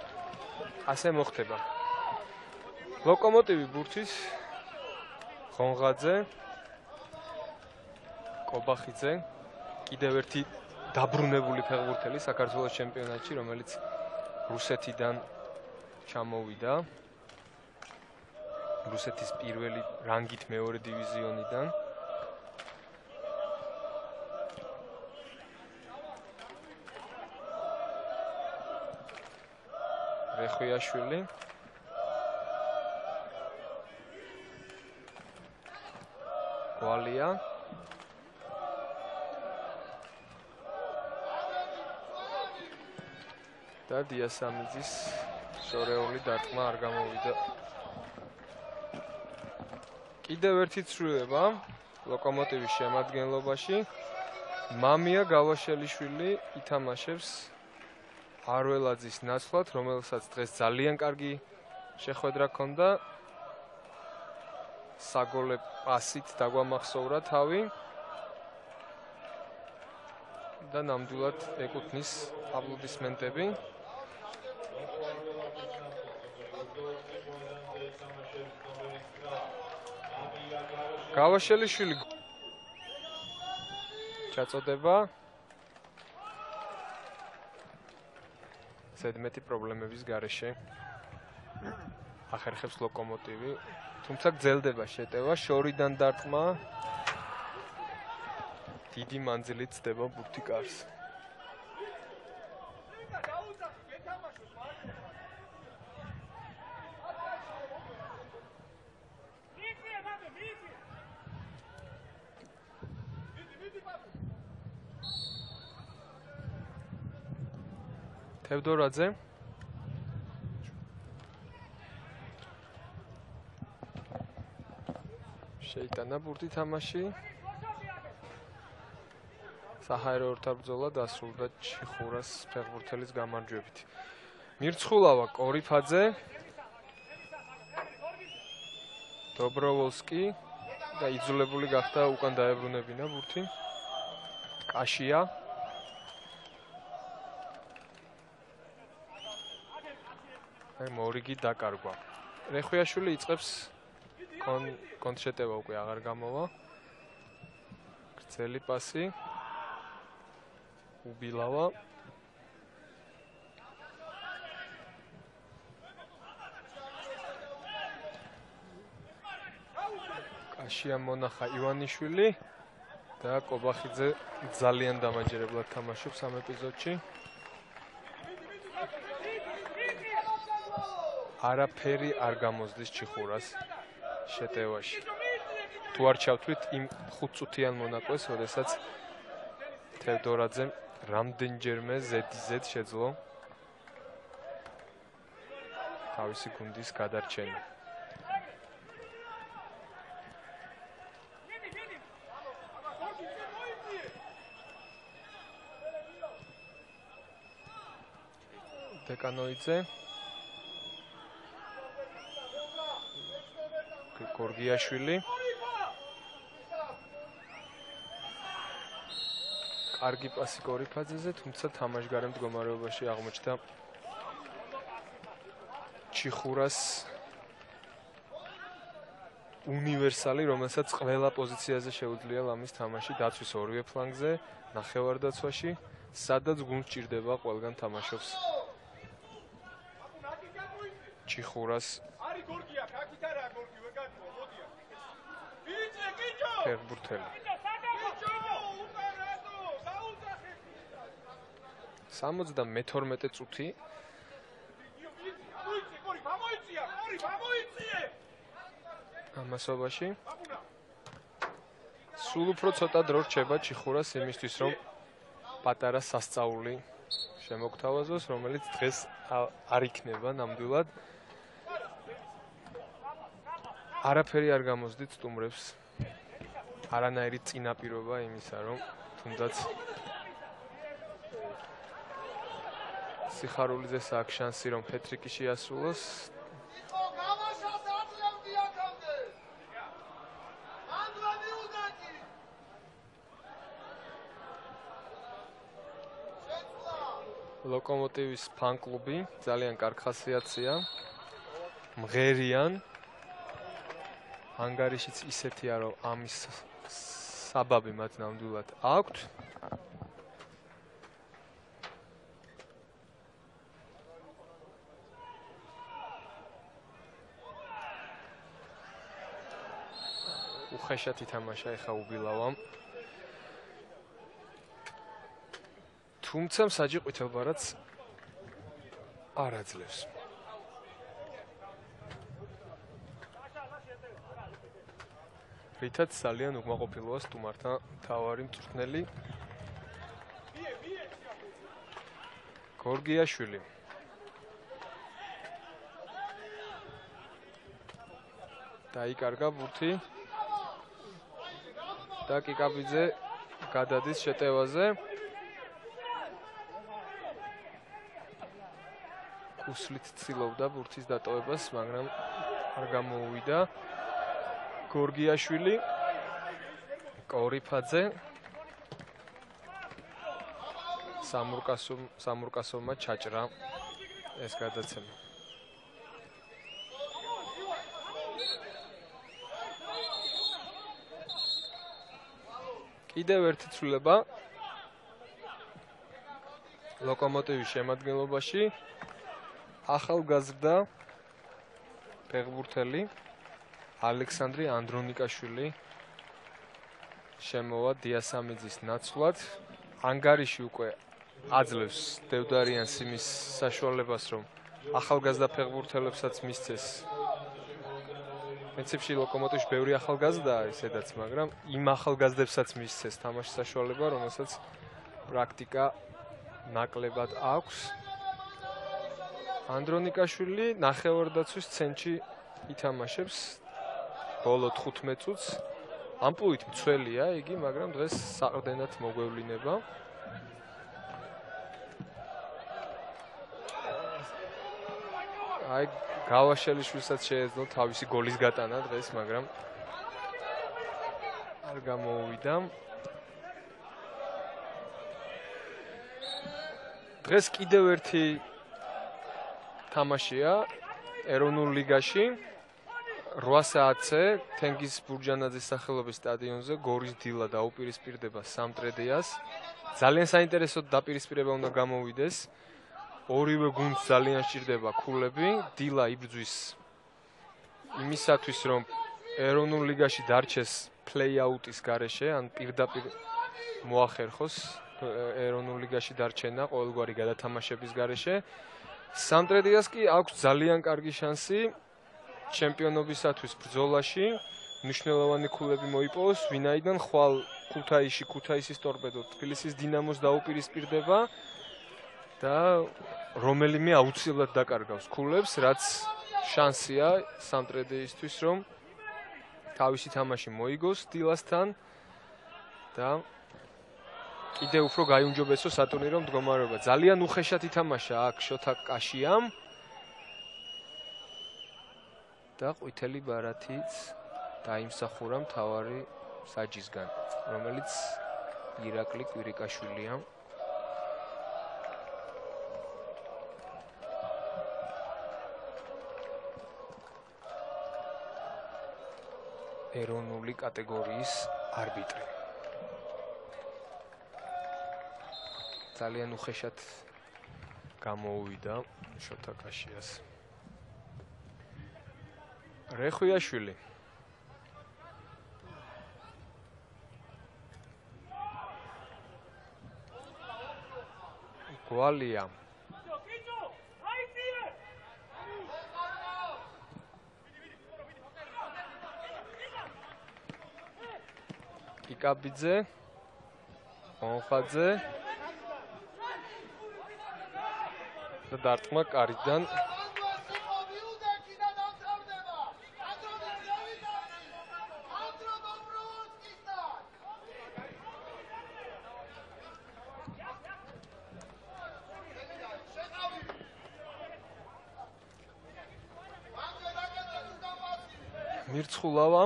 ასე მოხდება. ლოკომოტივი ბურთის ხონღაძე, კობახიძე, კიდევ ერთი დაბრუნებული ფეხბურთელი საქართველოს ჩემპიონატში, რომელიც რუსეთიდან ჩამოვიდა. რუსეთის პირველი რანგით მეორე დივიზიონიდან. რეხვიაშვილი გვალია და დიასამიძის შორეული დარტყმა არ გამოვიდა. კიდევ ერთი ცვლილება ლოკომოტივის შემადგენლობაში. მამია გავაშელიშვილი ითამაშებს არველაძის ნაცვლად, რომელსაც დღეს ძალიან კარგი შეხვედრა ჰქონდა. საგოლე პასით დაგვამახსოვრა თავი და ნამდვილად ეკუთვნის აპლოდისმენტები. გავაშელიშვილი ჩაწოდება ზედმეტი პრობლემების გარეშე ახერხებს ლოკომოტივი, თუმცა გრძელდება შეტევა, შორიდან დარტყმა დიდი მანძილით ცდება ბურთი კარს. თევდორაძე შეიტანა ბურთი თამაში. საჰაერო ორთაბრძოლა დასრულდა ჩიხურას ფეხბურთელის გამარჯვებით. მირცხულავა კორიფაძე, დობროვოლსკი და იძულებული გახდა უკან დაებრუნებინა ბურთი. კაშია აი მორიგი დაკარგვა. რეხვიაშვილი იწყებს კონტრშეტევა უკვე აღარ გამოვა. გრძელი პასი. უბილავა. კაშია მონახა ივანიშვილი და კობახიძე ძალიან დამაჯერებლად თამაშობს ამ ეპიზოდში. არაფერი არ გამოსდის ჩიხურას შეტევაში. თუ არ ჩავთვლით იმ ხუთწუთიან მონაკვეთს, როდესაც თევდორაძემ რამდენჯერმე ზედიზედ შეძლო თავისი გუნდის გადარჩენა. დეკანოიძე გორგიაშვილი კარგი პასი კორიფაძეზე, თუმცა თამაშგარე მდგომარეობაში აღმოჩნდა ჩიხურას უნივერსალი, რომელსაც ყველა პოზიციაზე შეუძლია ლამის თამაში, დაცვის ორივე ფლანგზე, ნახევარდაცვაში, სადაც გუნდს ჭირდება ყველგან თამაშობს ჩიხურას ფეხბურთელი. სამოცდამეთორმეტე წუთი ამასობაში სულ უფრო ცოტა დრო რჩება ჩიხურას იმისთვის, რომ პატარა სასწაული შემოგთავაზოს, რომელიც დღეს არ იქნება ნამდვილად. არაფერი არ გამოსდით სტუმრებს. არანაირი წინაპირობა იმისა, რომ თუნდაც სიხარულიძეს აქვს შანსი რომ ჰეტრიკი შეასრულოს. ლოკომოტივის ფან-კლუბი ძალიან კარგი ხასიათია. მღერიან. ანგარიშიც ისეთია რომ ამის საბაბი მათ ნამდვილად აქვთ. უხეშად ითამაშა ეხა უბილავამ. თუმცა მსაჯი ყვითელბარათს არ აძლევს. რითაც ძალიან უკმაყოფილოა სტუმართა მთავარი მწვრთნელი გორგიაშვილი. დაიკარგა ბურთი და კიკაბიძე გადადის შეტევაზე. უსლით ცდილობდა ბურთის დატოვებას, მაგრამ არ გამოუვიდა. გორგიაშვილი, კორიფაძე, სამურკასო სამურკასოვმა ჩაჭრა ეს გადაცემა. კიდევ ერთი ცვლილება ლოკომოტივის შემადგენლობაში. ახალგაზრდა ფეხბურთელი ალექსანდრე ანდრონიკაშვილი შემოვა დიასამიძის ნაცვლად. ანგარიში უკვე აძლევს დევდარიანს იმის საშუალებას, რომ ახალგაზრდა ფეხბურთელებსაც მისცეს. პრინციპში ლოკომოტივში ბევრი ახალგაზრდაა ისედაც, მაგრამ იმ ახალგაზრდებსაც მისცეს თამაშის საშუალება, რომელსაც პრაქტიკა ნაკლებად აქვს. ანდრონიკაშვილი ნახევარდაცვის ცენტრში ითამაშებს ბოლო თხუთმეტ წუთს. ამპლუით მცველია იგი, მაგრამ დღეს საყრდენად მოგვევლინება. აი გავაშელიშვილსაც შეეძლო თავისი გოლის გატანა დღეს, მაგრამ არ გამოუვიდა. დღეს კიდევ ერთი თამაშია ეროვნულ ლიგაში. რვა საათზე თენგიზ ბურჯანაძის სახელობის სტადიონზე გორის დილა დაუპირისპირდება სამტრედიას. ძალიან საინტერესო დაპირისპირება უნდა გამოვიდეს. ორივე გუნდს ძალიან სჭირდება ქულები. დილა იბრძვის იმისათვის, რომ ეროვნულ ლიგაში დარჩეს პლეი-აუტის გარეშე, ან პირდაპირ მოახერხოს ეროვნულ ლიგაში დარჩენა ყოველგვარი გადათამაშების გარეშე. სამტრედიას კი აქვს ძალიან კარგი შანსი ჩემპიონობისათვის ბრძოლაში. მნიშვნელოვანი ქულები მოიპოვოს, ვინაიდან ხვალ ქუთაისში ქუთაისის ტორპედო თბილისის დინამოს დაუპირისპირდება და რომელიმე აუცილებლად დაკარგავს ქულებს, რაც შანსია სამტრედიისთვის, რომ თავისი თამაში მოიგოს დილასთან და კიდევ უფრო გაიუმჯობესოს სატურნირო მდგომარეობა. ძალიან უხეშად ითამაშა აქ შოთა კაშიამ და ყვითელი ბარათიც დაიმსახურა მთავარი საჯისგან, რომელიც ირაკლი კვირიკაშვილია. ეროვნული კატეგორიის არბიტრი. ძალიან უხეშად გამოუვიდა შოთა კაშიას. რეხვიაშვილი. გვალია. კიკაბიძე, ონხაძე და დარტყმა კარიდან. მირცხულავა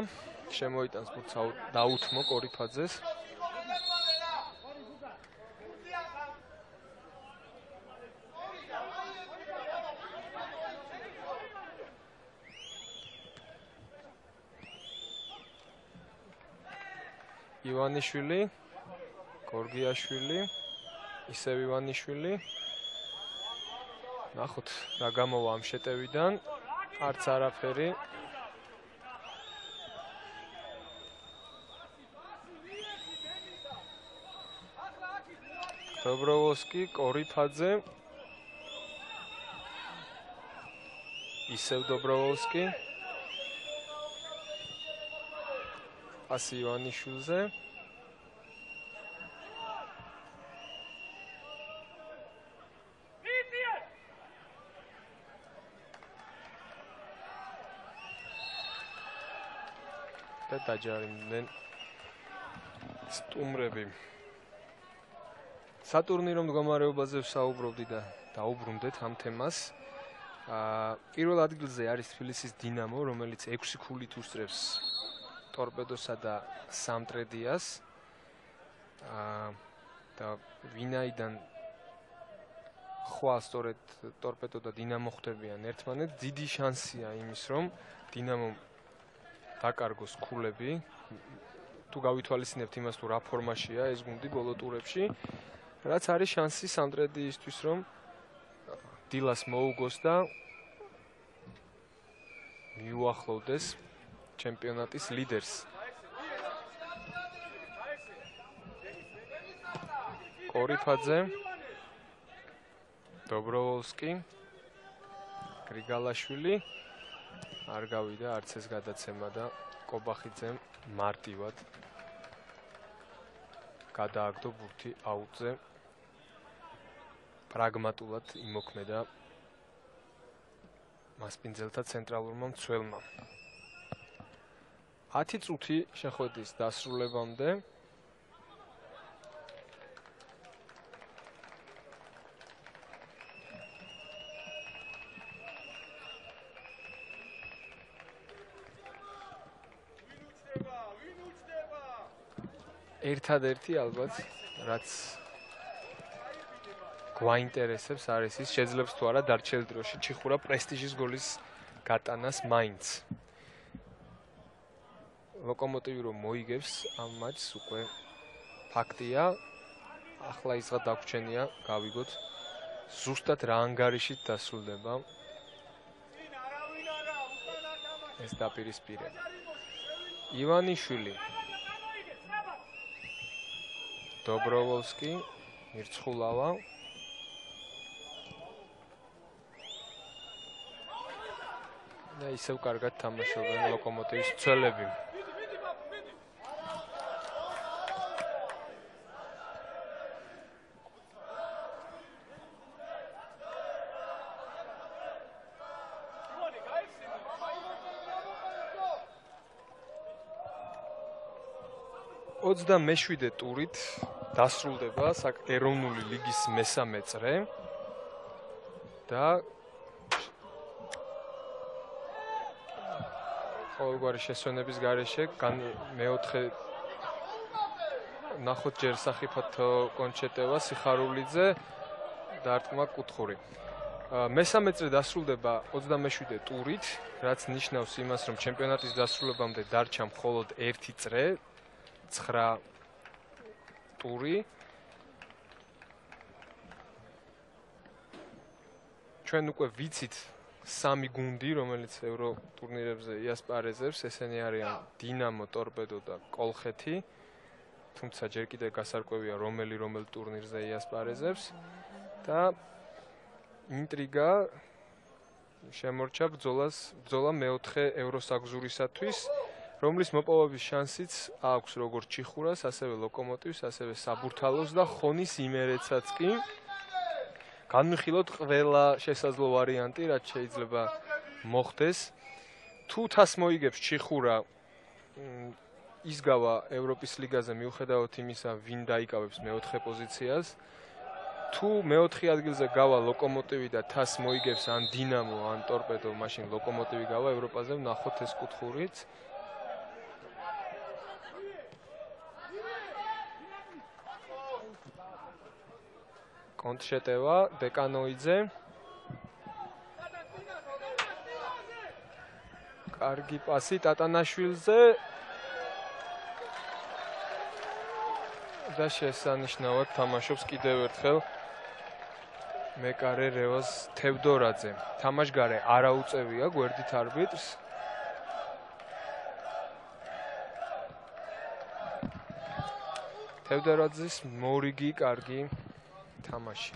შემოიტანს ბურთს დაუთმო კორიფაძეს. ივანიშვილი, გორგიაშვილი, ისევ ივანიშვილი. ნახოთ რა გამოვა ამ შეტევიდან. არც არაფერი. დობროვოსკი, კორიფაძე. ისევ დობროვოსკი. პასი ივანიშვილზე. და დაჯარიმდნენ სტუმრები. სატურნირო მდგომარეობაზე ვსაუბრობდი და დაუბრუნდეთ ამ თემას. აა პირველ ადგილზე არის თბილისის დინამო, რომელიც ექვსი ქულით უსწრებს ტორპედოსა და სამტრედიას. აა და ვინაიდან ხვალ სწორედ ტორპედო და დინამო ხდებიან ერთმანეთს, დიდი შანსია იმის, რომ დინამომ დაკარგოს ქულები. თუ გავითვალისწინებთ იმას, თუ რა ფორმაშია ეს გუნდი ბოლო ტურებში, რაც არის შანსი სამტრედიისთვის, რომ დილას მოუგოს და მიუახლოვდეს ჩემპიონატის ლიდერს. კორიფაძე, დობროვოლსკი, გრიგალაშვილი არ გავიდა არც ეს გადაცემა და კობახიძემ მარტივად გადააგდო ბურთი აუტზე. პრაგმატულად იმოქმედა მასპინძელთა ცენტრალურმა მცველმა. ათი წუთი შეხვედრის დასრულებამდე ერთადერთი ალბათ რაც გვაინტერესებს არის ის შეძლებს თუ არა დარჩენილ დროში ჩიხურა პრესტიჟის გოლის გატანას მაინც. ლოკომოტივი რომ მოიგებს ამ მატჩს უკვე ფაქტია. ახლა ისღა დაგვრჩენია გავიგოთ ზუსტად რა ანგარიშით დასრულდება ეს დაპირისპირება. ივანიშვილი, დობროვოლსკი, მირცხულავა. და ისევ კარგად თამაშობენ ლოკომოტივის მცველები. ოცდამეშვიდე ტურით დასრულდება ეროვნული ლიგის მესამე წრე და ყოველგვარი შესვენების გარეშე მეოთხე ნახოთ ჯერ სახიფათო კონჩეტევა სიხარულიძე დარტყმა კუთხური. მესამე წრე დასრულდება ოცდამეშვიდე ტურით, რაც ნიშნავს იმას, რომ ჩემპიონატის დასრულებამდე დარჩა მხოლოდ ერთი წრე, ცხრა ტური. ჩვენ უკვე ვიცით სამი გუნდი, რომელიც ევრო ტურნირებზე იასპარეზებს, ესენი არიან დინამო, ტორპედო და კოლხეთი. თუმცა ჯერ კიდევ გასარკვევია რომელი რომელ ტურნირზე იასპარეზებს და ინტრიგა შემორჩა ბრძოლას, ბრძოლა მეოთხე ევროსაგზურისათვის, რომლის მოპოვების შანსიც აქვს როგორც ჩიხურას, ასევე ლოკომოტივს, ასევე საბურთალოს და ხონის იმერეთსაც კი. განვიხილოთ ყველა შესაძლო ვარიანტი, რაც შეიძლება მოხდეს. თუ თას მოიგებს ჩიხურა, ისგავა ევროპის ლიგაზე მიუხედავად იმისა, ვინ დაიკავებს მეოთხე პოზიციას. თუ მეოთხე ადგილზე გავა ლოკომოტივი და თასს მოიგებს ან დინამო ან ტორპედო, მაშინ ლოკომოტივი გავა ევროპაზე, ვნახოთ ეს კუთხურით. კონტრშეტევა დეკანოიძე. კარგი პასი ტატანაშვილზე. და შესანიშნავად თამაშობს კიდევ ერთხელ მეკარე რევაზ თევდორაძე. თამაშგარე არ აუწევია გვერდით არბიტრს. თევდორაძის მორიგი კარგი თამაში.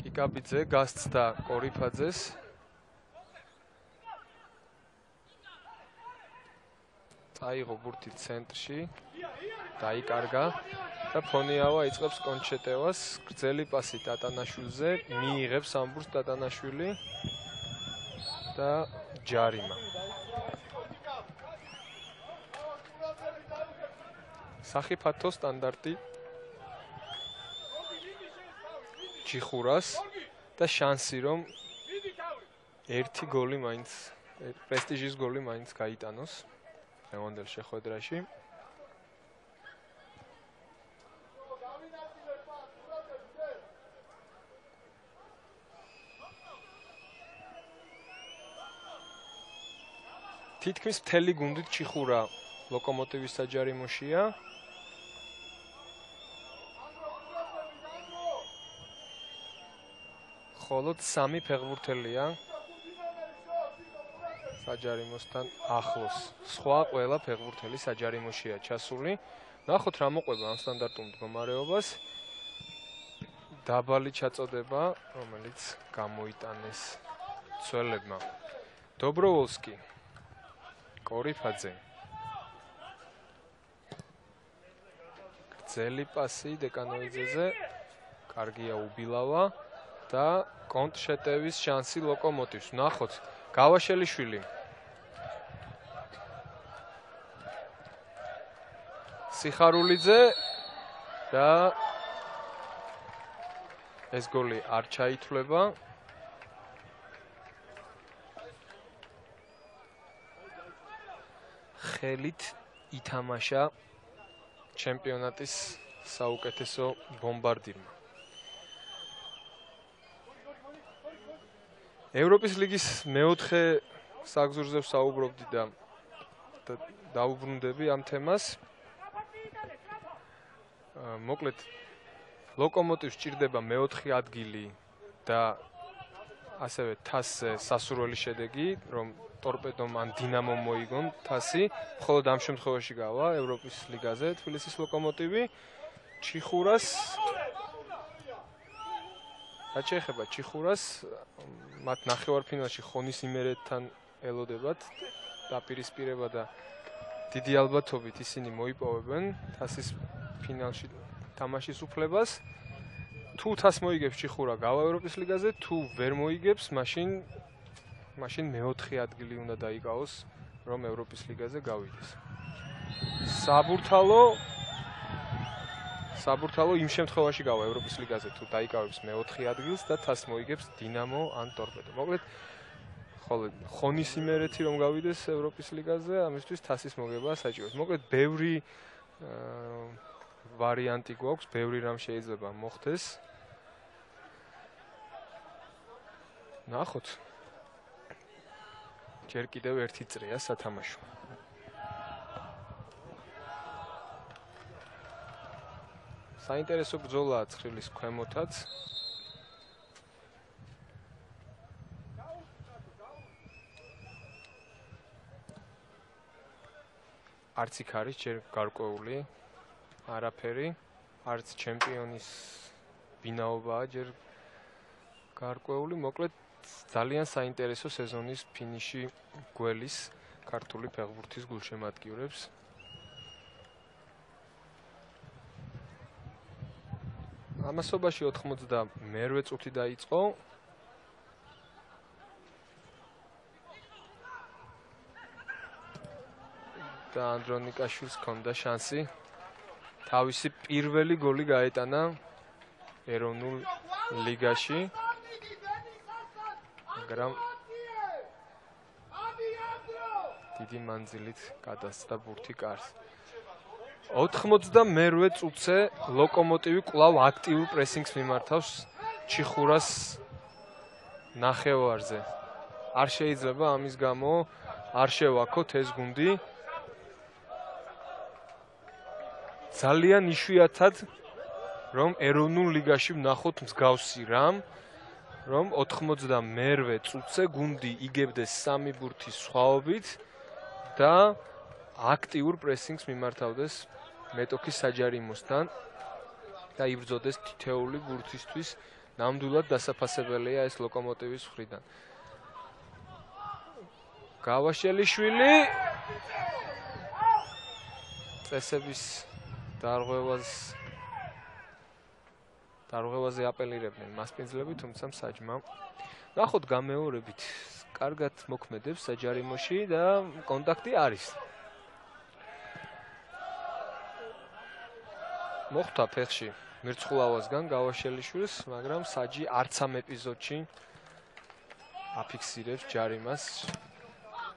კიკაბიძე გასცდა კორიფაძეს. აიღო ბურთი ცენტრში, დაიკარგა და ფონიავა იწყებს კონჩეტევას, გრძელი პასი ტატანაშვილზე, მიიღებს ამ ბურთს ტატანაშვილი და ჯარიმა. სახიფათო სტანდარტი ჩიხურას და შანსი რომ ერთი გოლი მაინც, პრესტიჟის გოლი მაინც გაიტანოს.ევანდელ შეხვედრაში. თითქმის მთელი გუნდით ჩიხურა ლოკომოტივის საჯარიმოშია. ხოლო სამი ფეხბურთელია საჯარიმოსთან ახლოს. სხვა ყველა ფეხბურთელი საჯარიმოშია ჩასული. ნახოთ რა მოყვება ამ სტანდარტულ მდგომარეობას. დაბალი ჩაწოდება, რომელიც გამოიტანეს ცველებმა. დობროვოლსკი, კორიფაძე. გრძელი პასი დეკანოიძეზე, კარგია უბილავა და კონტრშეტევის შანსი ლოკომოტივს. ნახოთ გავაშელიშვილი. სიხარულიძე და ეს გოლი არ ჩაითვლება. ხელით ითამაშა ჩემპიონატის საუკეთესო ბომბარდირმა. ევროპის ლიგის მეოთხე საგზურზე ვსაუბრობდი და დაუბრუნდები ამ თემას. მოკლედ ლოკომოტივს სჭირდება მეოთხე ადგილი და ასევე თასზე სასურველი შედეგი, რომ ტორპედომ ან დინამომ მოიგონ თასი, მხოლოდ ამ შემთხვევაში გავა ევროპის ლიგაზე თბილისის ლოკომოტივი. ჩიხურას რაც შეეხება ჩიხურას, მათ ნახევარფინალში ხონის იმერეთთან ელოდებათ დაპირისპირება და დიდი ალბათობით ისინი მოიპოვებენ თასის ფინალში თამაშის უფლებას. თუ თასს მოიგებს ჩიხურა გავა ევროპის ლიგაზე, თუ ვერ მოიგებს, მაშინ მაშინ მეოთხე ადგილი უნდა დაიკავოს, რომ ევროპის ლიგაზე გავიდეს. საბურთალო საბურთალო იმ შემთხვევაში გავა ევროპის ლიგაზე, თუ დაიკავებს მეოთხე ადგილს და თასს მოიგებს დინამო ან ტორპედო. მოკლედ ხოლო ხონის იმერეთი რომ გავიდეს ევროპის ლიგაზე, ამისთვის თასის მოგება საჭიროა. მოკლედ ბევრი ვარიანტი გვაქვს, ბევრი რამ შეიძლება მოხდეს. ნახოთ. ჯერ კიდევ ერთი წრეა სათამაშო. საინტერესო ბრძოლაა ცხრილის ქვემოთაც. არც იქ არის ჯერ გარკვეული არაფერი, არც ჩემპიონის ვინაობაა ჯერ გარკვეული, მოკლედ ძალიან საინტერესო სეზონის ფინიში გველის ქართული ფეხბურთის გულშემატკივრებს. ამასობაში ოთხმოცდამერვე წუთი დაიწყო. და ანდრონიკაშვილს ჰქონდა შანსი თავისი პირველი გოლი გაეტანა ეროვნულ ლიგაში. მაგრამ დიდი მანძილით გადასცდა ბურთი კარს. ოთხმოცდამეერთე წუთზე ლოკომოტივი კვლავ აქტიურ პრესინგს მიმართავს ჩიხურას ნახევარზე. არ შეიძლება ამის გამო არ შევაქოთ ეს გუნდი. ძალიან იშვიათად რომ ეროვნულ ლიგაში ვნახოთ მსგავსი რამ, რომ ოთხმოცდამეერთე წუთზე გუნდი იგებდეს სამი ბურთის სხვაობით და აქტიურ პრესინგს მიმართავდეს მეტოქის საჯარიმოსთან და იბრძოდეს თითეული ბურთისთვის. ნამდვილად დასაფასებელია ეს ლოკომოტივის მხრიდან. გავაშელიშვილი წესების დარღვევას დარღვევაზე აპელირებდნენ მასპინძლები, თუმცა მსაჯმა ნახოთ გამეორებით კარგად მოქმედებს საჯარიმოში და კონტაქტი არის. მოხდა ფეხში მირცხულავასგან გავაშელიშვილს, მაგრამ საჯი არც ამ ეპიზოდში აფიქსირებს ჯარიმას.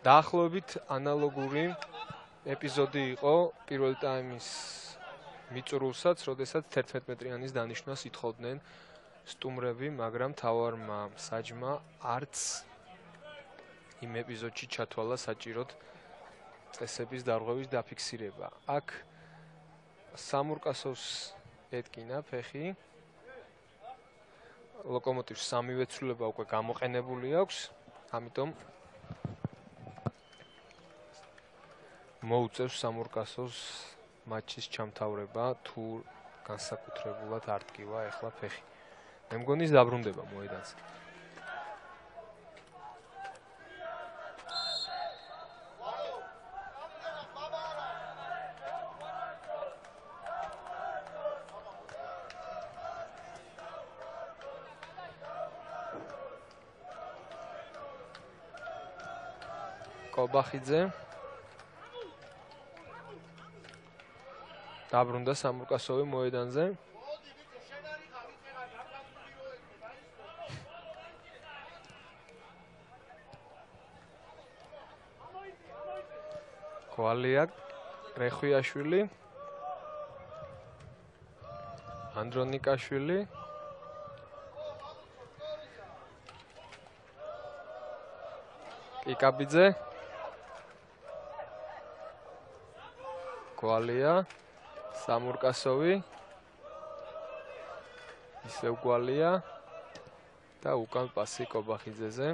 დაახლოებით ანალოგური ეპიზოდი იყო პირველ ტაიმის მიწურულსაც, როდესაც თერთმეტ მეტრიანის დანიშვნას ითხოვდნენ სტუმრები, მაგრამ თავარმა საჯმა არც იმ ეპიზოდში ჩათვალა საჭიროდ წესების დარღვევის დაფიქსირება. აქ სამურკასოვს ეტკინა ფეხი. ლოკომოტივს სამივე ცვლილება უკვე გამოყენებული აქვს, ამიტომ მოუწევს სამურკასოვს მატჩის ჩამთავრება, თუ განსაკუთრებულად არ დგივა ეხლა ფეხი. მე მგონი ის დაბრუნდება მოედანზე. კობახიძე დაბრუნდა სამურკასოვი მოედანზე. კვალია რეხვიაშვილი, ანდრონიკაშვილი, კიკაბიძე, კვალია, სამურკასოვი, ისევ კვალია და უკან პასი კობახიძეზე.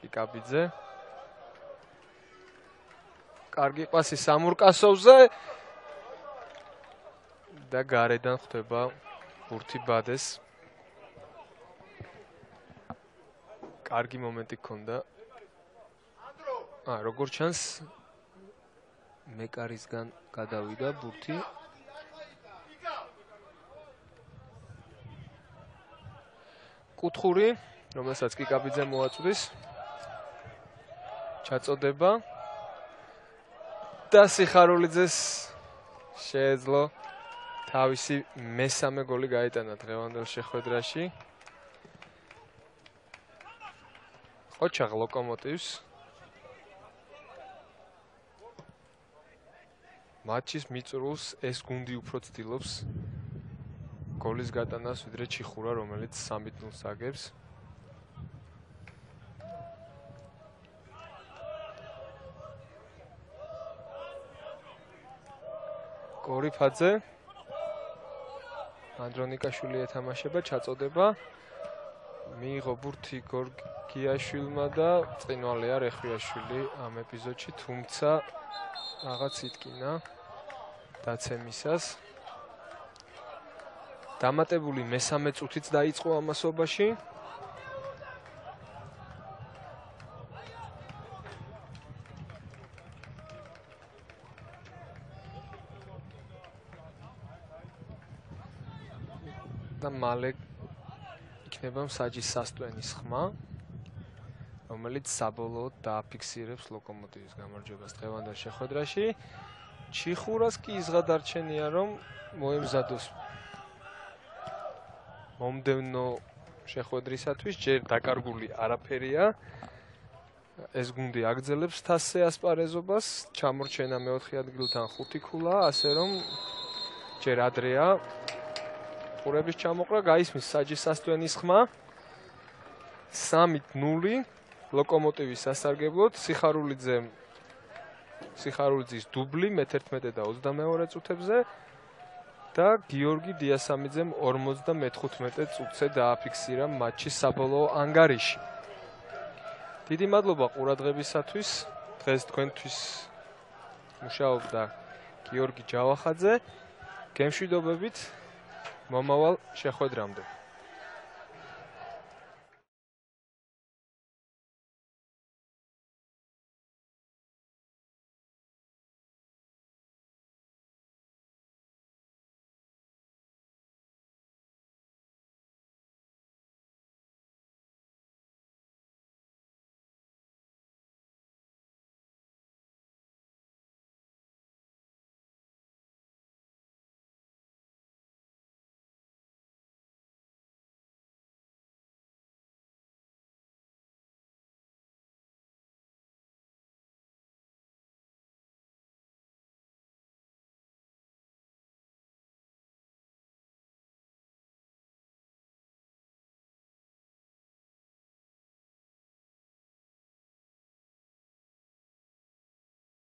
კიკაბიძე, კარგი პასი სამურკასოვზე და გარედან ხდება ბურთი ბადეს. კარგი მომენტი ჰქონდა. აა, როგორც ჩანს, მეკარისგან გადავიდა ბურთი. კუთხური, რომელსაც კიკაბიძე მოაწვდის. ჩაწოდება და სიხარულიძეს შეეძლო თავისი მესამე გოლი გაეტანა დღევანდელ შეხვედრაში. ოჩაღ ლოკომოტივს მატჩის მიწურულს ეს გუნდი უფრო ცდილობს გოლის გატანას, ვიდრე ჩიხურა, რომელიც სამი ნულს აგებს. კორიფაძე, ანდრონიკაშვილი ეთამაშება, ჩაწოდება. მიიღო ბურთი გორგიაშვილმა და წინვალია რეხვიაშვილი ამ ეპიზოდში, თუმცა რაღაც იტკინა დაცემისას. დამატებული მესამე წუთიც დაიწყო ამასობაში. და მალე იქ იქნება მსაჯის სასტვენის ხმა, რომელიც საბოლოოდ დააფიქსირებს ლოკომოტივის გამარჯვებას დღევანდელ შეხვედრაში. ჩიხურას კი იზღადარჩენია, რომ მოემზადოს მომდევნო შეხვედრისათვის, ჯერ დაკარგული არაფერია. ეს გუნდი აგრძელებს თასზე ასპარეზობას, ჩამორჩენა მეოთხე ადგილთან ხუთი ქულა, ასე რომ ჯერ ადრეა ყურების ჩამოყრა, გაისმის საჯის სასტვენის ხმა. სამი ნული ლოკომოტივის სასარგებლოდ, სიხარულიძე სიხარულიძის დუბლი მეთერთმეტე და ოცდამეორე წუთებზე და გიორგი დიასამიძემ ორმოცდამეთხუთმეტე წუთზე დააფიქსირა მატჩის საბოლოო ანგარიში. დიდი მადლობა ყურადღებისათვის. დღეს თქვენთვის მუშაობდა გიორგი ჯავახაძე. გემშვიდობებით მომავალ შეხვედრამდე.